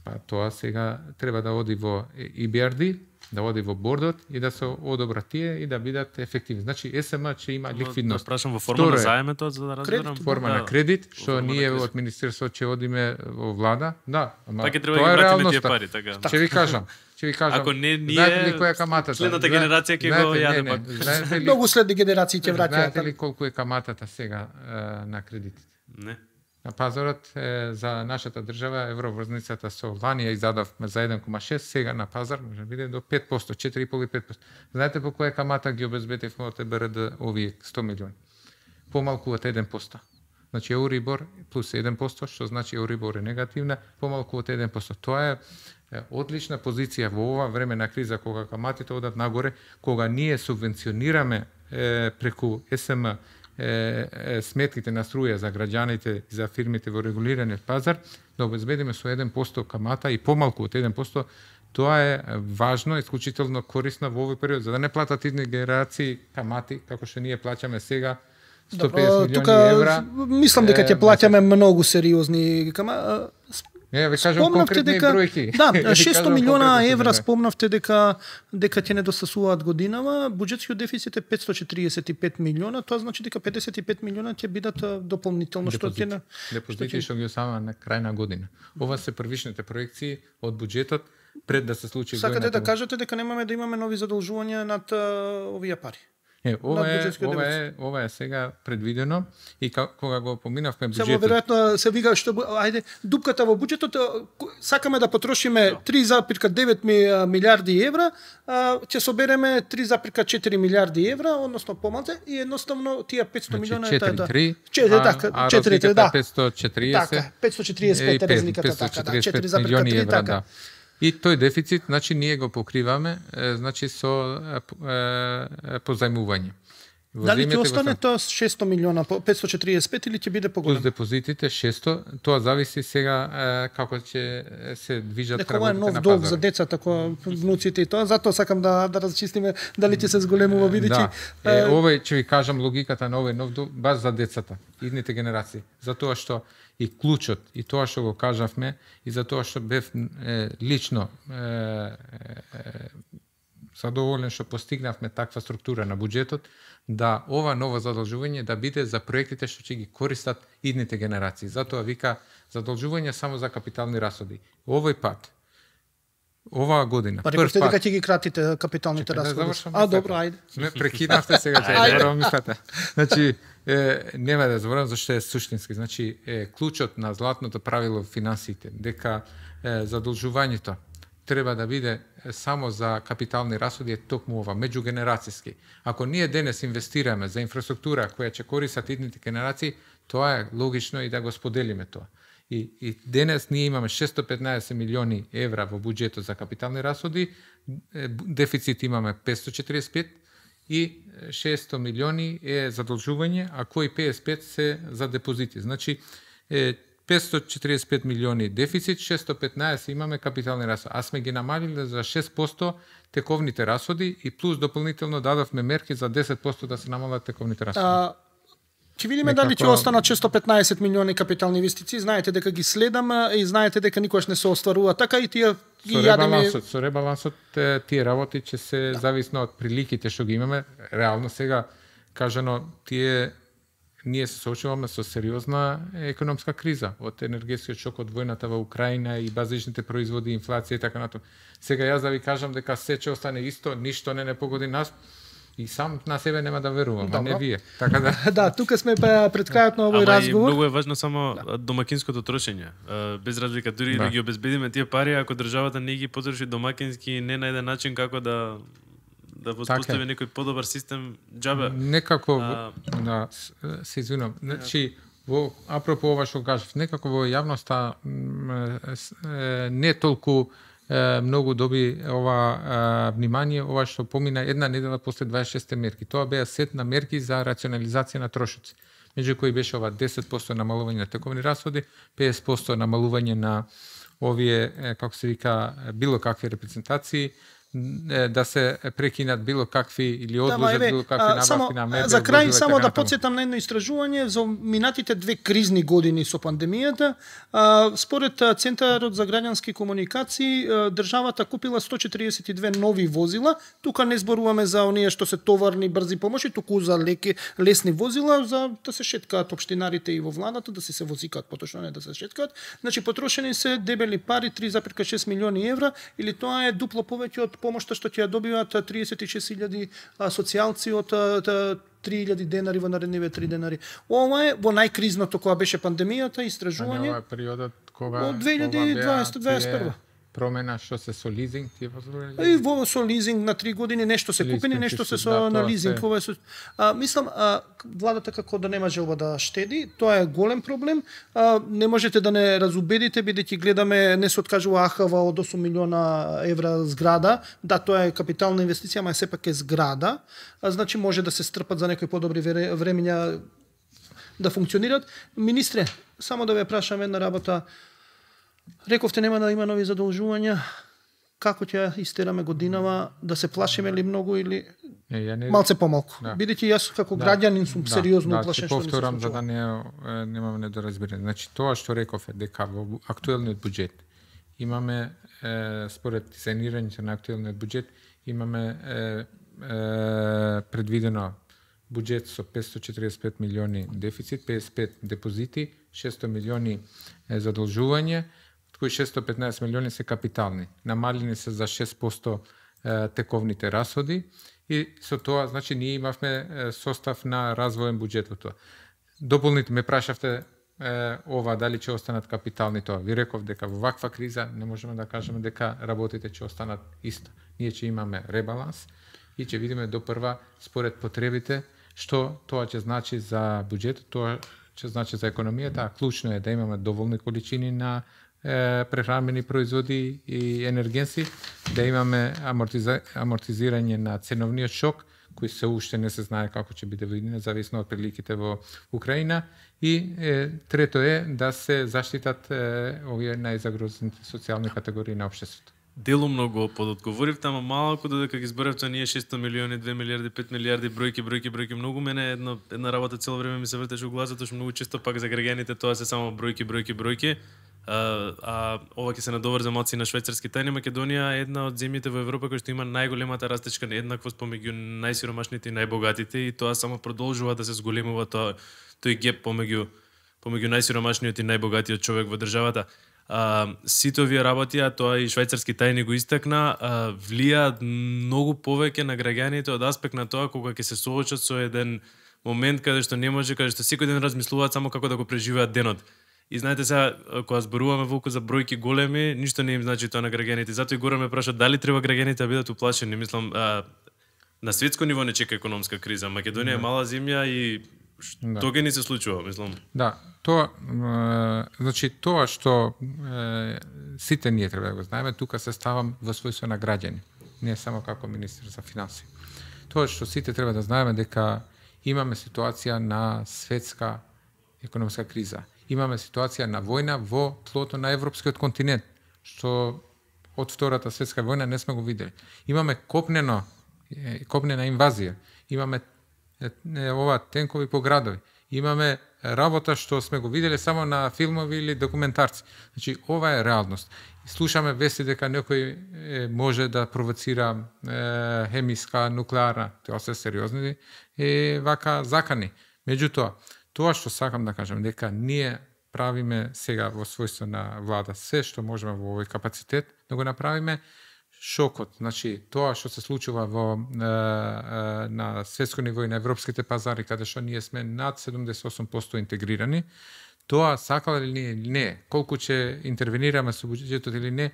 Па тоа сега треба да оди во И Б Р Д, да оди во бордот и да се одобрат тие и да бидат ефективни. Значи Е С М ќе има ликвидност.
Да прашам во форма на заем тоа за да разберам.
Форма на кредит, што ние од министерството ќе одиме во влада. Да, ама
па ќе треба
тоа
да
е
ги вратиме
реалноста.
тие пари, така.
Ќе ви кажам. Ќе ви кажам.
Ако не ние,
знаете ли која е каматата?
Следната генерација ќе го јаде пак.
Знаете ли,
Многу следни генерации ќе враќаат.
знаете ли колку е каматата сега е, на кредитите?
Не.
На пазарот е, за нашата држава евроврзницата со лани ја издадовме за еден кoma шест, сега на пазар може да биде до пет проценти, четири и полу до пет проценти. Знаете по која камата ги обезбедивме од Е Б Р Д овие сто милиони? Помалку од еден процент. Значи Еурибор плюс еден процент, што значи Еурибор е негативна, помалку од еден процент. Тоа е одлична позиција во ова време на криза, кога каматите одат нагоре, кога ние субвенционираме е, преку Е С М е, е, сметките на струја за граѓаните и за фирмите во регулираниот пазар, да обезбедиме со еден процент камата и помалку од еден процент, тоа е важно, исклучително корисно во овој период, за да не платат идни генерации камати, како што ние плаќаме сега, сто педесет милиони евра.
Мислам дека ќе плаќаме многу сериозни кама.
Не, ви кажам конкретни
дека,
бројки.
Да, шесто милиона евра
да.
спомнавте дека дека ќе недостасуваат годинава, буџетскиот дефицит е петстотини четиридесет и пет милиона, тоа значи дека педесет и пет милиона ќе бидат дополнително што ќе на
депозити што ги осама на крај на година. Ова се првичните проекции од буџетот пред да се случи годината.
Сакате да кажете дека немаме да имаме нови задолжувања над овие пари?
Не, ова е, ова е, ова е сега предвидено и кога го поминавме буџетот.
Само веројатно се вика што ајде дупката во буџетот сакаме да потрошиме три зарез девет милиарди евра, ќе собереме три зарез четири милиарди евра, односно помалку и едноставно тие петстотини милиона е таа. четири така, четири да.
петстотини четириесет.
Така, петстотини четириесет и пет е разликата така, да, четири зарез три така.
И тој дефицит, значи, ние го покриваме, е, значи, со е, е, позајмување.
Дали ќе остане тоа шесто милиона, петстотини четириесет и пет или ќе биде поголем?
Плюс депозитите шесто, тоа зависи сега е, како ќе се движат
работите на пазарот. Дека ова е нов долг за децата, кои внуците и тоа, затоа сакам да да разчистиме дали ќе се зголемува бидејќи.
Да. Е, овој ќе ви кажам логиката на овој нов долг баш за децата, идните генерации, затоа што и клучот, и тоа што го кажавме, и за тоа што бев е, лично е, е, задоволен што постигнавме таква структура на буџетот, да ова ново задолжување да биде за проектите што ќе ги користат идните генерации. Затоа вика задолжување само за капитални расходи. Овој пат, оваа година,
па рекавте дека ќе ги кратите капиталните
Чекай,
расходи.
Да а,
добро, ајде.
Не прекинавте сега, че заборавам мислата. Значи, е, нема да заборавам зашто е суштински. Значи, е, клучот на златното правило во финансите, дека е, задолжувањето треба да биде само за капитални расходи е токму ова, меѓугенерацијски. Ако ние денес инвестираме за инфраструктура која ќе користат идните генерации, тоа е логично и да го споделиме тоа. И, и денес ние имаме шестстотини и петнаесет милиони евра во буџетот за капитални расходи, дефицит имаме петстотини четириесет и пет и шестстотини милиони е задолжување, а кои педесет и пет се за депозити. Значи, е, петстотини четириесет и пет милиони дефицит, шестстотини и петнаесет имаме капитални расходи. А сме ги намалиле за шест проценти тековните расходи и плюс дополнително дадовме мерки за десет проценти да се намалат тековните расходи.
А, ќе видиме Некако... дали ќе останат шестстотини и петнаесет милиони капитални инвестиции. Знаете дека ги следам и знаете дека никош не се остварува така и тие ги
со
јадеме.
Ребалансот, со ребалансот тие работи ќе се да. зависно од приликите што ги имаме. Реално сега кажано тие ние се соочуваме со сериозна економска криза од енергетскиот шок од војната во Украина и базичните производи, инфлација и така натаму. Сега јас да ви кажам дека се ќе остане исто, ништо не не погоди нас. И сам на себе нема да верувам, а не вие. Така да.
Да, тука сме пред крајот на овој
Ама
разговор.
Ама многу е важно само да. домакинското трошење. Без разлика, дури да. да ги обезбедиме тие пари, ако државата не ги потроши домакински, не најде начин како да да воспостави така некој подобар систем джабе.
Некако, а... да, се извинувам. Значи, во апропо ова што кажав, некако во јавноста не толку многу доби ова внимание, ова што помина една недела после дваесет и шесте мерки. Тоа беа сет на мерки за рационализација на трошоци. Меѓу кои беше ова десет проценти намалување на тековни расходи, педесет проценти намалување на овие, како се вика, било какви репрезентации, да се прекинат било какви или одложат да, било какви набавки на мебел.
За крај само да потсетам на едно истражување за минатите две кризни години со пандемијата. Според Центарот за граѓански комуникации, државата купила сто четириесет и две нови возила. Тука не зборуваме за оние што се товарни брзи помоши, туку за леки лесни возила за да се шеткаат општинарите и во владата, да се се возикаат, поточно не да се шеткаат. Значи потрошени се дебели пари три зарез шест милиони евра или тоа е дупло повеќе од помошта што ќе ја добиваат триесет и шест илјади социјалци од три илјади денари во наредниве три денари. Ова е во најкризното кога беше пандемијата, истражување.
Ова е периодот кога
од две илјади и дваесет дваесет и прва.
промена што се со лизинг, тие
И во со лизинг на три години нешто се купени,
Лизинг,
нешто се
да,
со
тоа
на лизинг,
се-
ова е со а, мислам а, владата како да нема желба да штеди, тоа е голем проблем. А, не можете да не разубедите бидејќи гледаме не се откажува АХВ од осум милиона евра зграда, да тоа е капитална инвестиција, ама сепак е зграда, а, значи може да се стрпат за некои подобри вре- времења да функционираат. Министре, само да ве прашам една работа. Рековте нема да има нови задолжувања. Како ќе истераме годинава, да се плашиме ли многу или
Не, ја не
малце помалку?
Да.
Бидејќи јас како граѓанин сум сериозно
да,
уплашен
ќе
што ми се
повторам за
случува.
да не е, немаме недоразбирање. Значи тоа што реков е дека во актуелниот буџет имаме е, според дизајнирањето на актуелниот буџет имаме е, е, предвидено буџет со петстотини и четиридесет и пет милиони дефицит, педесет и пет депозити, шестстотини милиони е задолжување, од кои шестстотини и петнаесет милиони се капитални. Намалени се за шест проценти е, тековните расходи и со тоа, значи, ние имавме е, состав на развоен буџет во тоа. Дополнително ме прашавте е, ова дали ќе останат капитални тоа. Ви реков дека во ваква криза не можеме да кажеме дека работите ќе останат исто. Ние ќе имаме ребаланс и ќе видиме до прва според потребите што тоа ќе значи за буџетот, тоа ќе значи за економијата, а клучно е да имаме доволни количини на е, прехранбени производи и енергенси, да имаме амортиза, амортизирање на ценовниот шок, кој се уште не се знае како ќе биде во иднина, зависно од приликите во Украина. И е, трето е да се заштитат е, овие најзагрозените социјални категории на општеството.
Делумно го пододговоривте, ама малку додека ги зборевте ние шестстотини милиони, две милиарди, пет милиарди, бројки, бројки, бројки, многу мене една една работа цело време ми се вртеше во главата, што многу често пак за граѓаните тоа се само бројки, бројки, бројки. А, а ова ќе се надоврзе малци на швајцарски тајни. Македонија е една од земјите во Европа која што има најголемата растечка нееднаквост помеѓу најсиромашните и најбогатите и тоа само продолжува да се зголемува тоа тој геп помеѓу помеѓу најсиромашниот и најбогатиот човек во државата. А, сите овие работи, а тоа и швајцарски тајни го истакна, а, влијаат многу повеќе на граѓаните од аспект на тоа кога ќе се соочат со еден момент каде што не може, каде што секој ден размислуваат само како да го преживеат денот. И знаете сега, кога зборуваме волку за бројки големи, ништо не им значи тоа на граѓаните. Затоа и горе ме прашаат дали треба граѓаните да бидат уплашени. Мислам, а, на светско ниво не чека економска криза. Македонија е мала земја и
Да.
тоа ќе ни се случува, мислам.
Да, тоа, е, значи тоа што е, сите ние треба да го знаеме, тука се ставам во својство на граѓани, не само како министер за финансии. Тоа што сите треба да знаеме дека имаме ситуација на светска економска криза. Имаме ситуација на војна во тлото на европскиот континент, што од Втората светска војна не сме го видели. Имаме копнено, е, копнена инвазија, имаме е, е, ова тенкови по градови. Имаме работа што сме го виделе само на филмови или документарци. Значи, ова е реалност. Слушаме вести дека некој е, може да провоцира е, хемиска, нуклеарна, тоа се сериозни е, вака закани. Меѓутоа, тоа што сакам да кажам, дека ние правиме сега во својство на влада се што можеме во овој капацитет да го направиме. Шокот, значи тоа што се случува во е, е, на светско ниво и на европските пазари, каде што ние сме над седумдесет и осум проценти интегрирани, тоа сакале ли ние или не, колку ќе интервенираме со буџетот или не,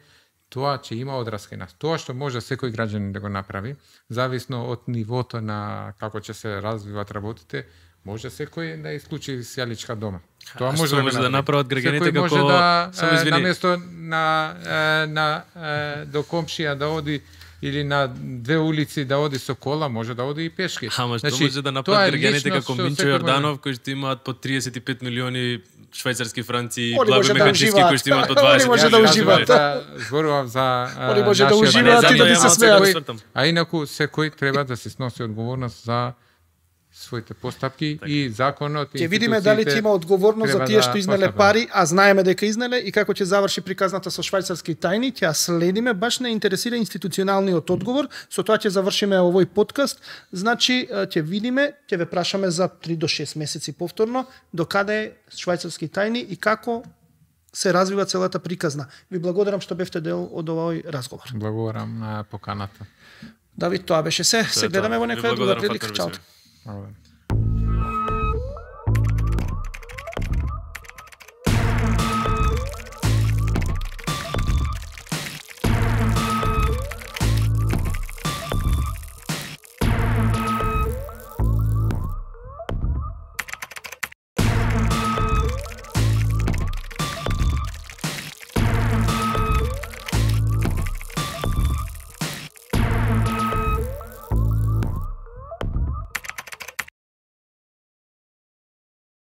тоа ќе има одраска и нас. Тоа што може секој граѓанин да го направи, зависно од нивото на како ќе се развиваат работите, може секој да исклучи сјаличка дома.
Тоа може, може да направат граѓаните
како
како
може да
само извини.
наместо на е, на е, до комшија да оди или на две улици да оди со кола, може да оди и пешки.
Ама што
Значи,
може да
тоа
направат
е
граѓаните
личност
како
што
Минчо
секој
Јорданов кои што имаат по триесет и пет милиони швајцарски франци и
Они
Благо
може да
Мегачевски
уживаат.
кои што имаат по
Они
дваесет
може да
милиони.
уживаат.
Да, зборував за е,
Они може да
нашиот
уживаат
и да ти се
секој-
смеат.
А инаку секој треба да се сноси одговорност за своите постапки и законот и
Ќе видиме дали ќе има одговорност за
треба
тие
да
што изнеле
постапат.
пари, а знаеме дека изнеле и како ќе заврши приказната со швајцарски тајни, ќе ја следиме, баш не интересира институционалниот одговор, со тоа ќе завршиме овој подкаст. Значи ќе видиме, ќе ве прашаме за три до шест месеци повторно до каде е швајцарски тајни и како се развива целата приказна. Ви благодарам што бевте дел од овој разговор.
Благодарам на поканата.
Давид, тоа беше се. Се
Тоа е
гледаме
тоа.
во
Ви
некоја друга
благодарам,
прилика.
Фатмир
Чао.
Бисмир.
Благодарам.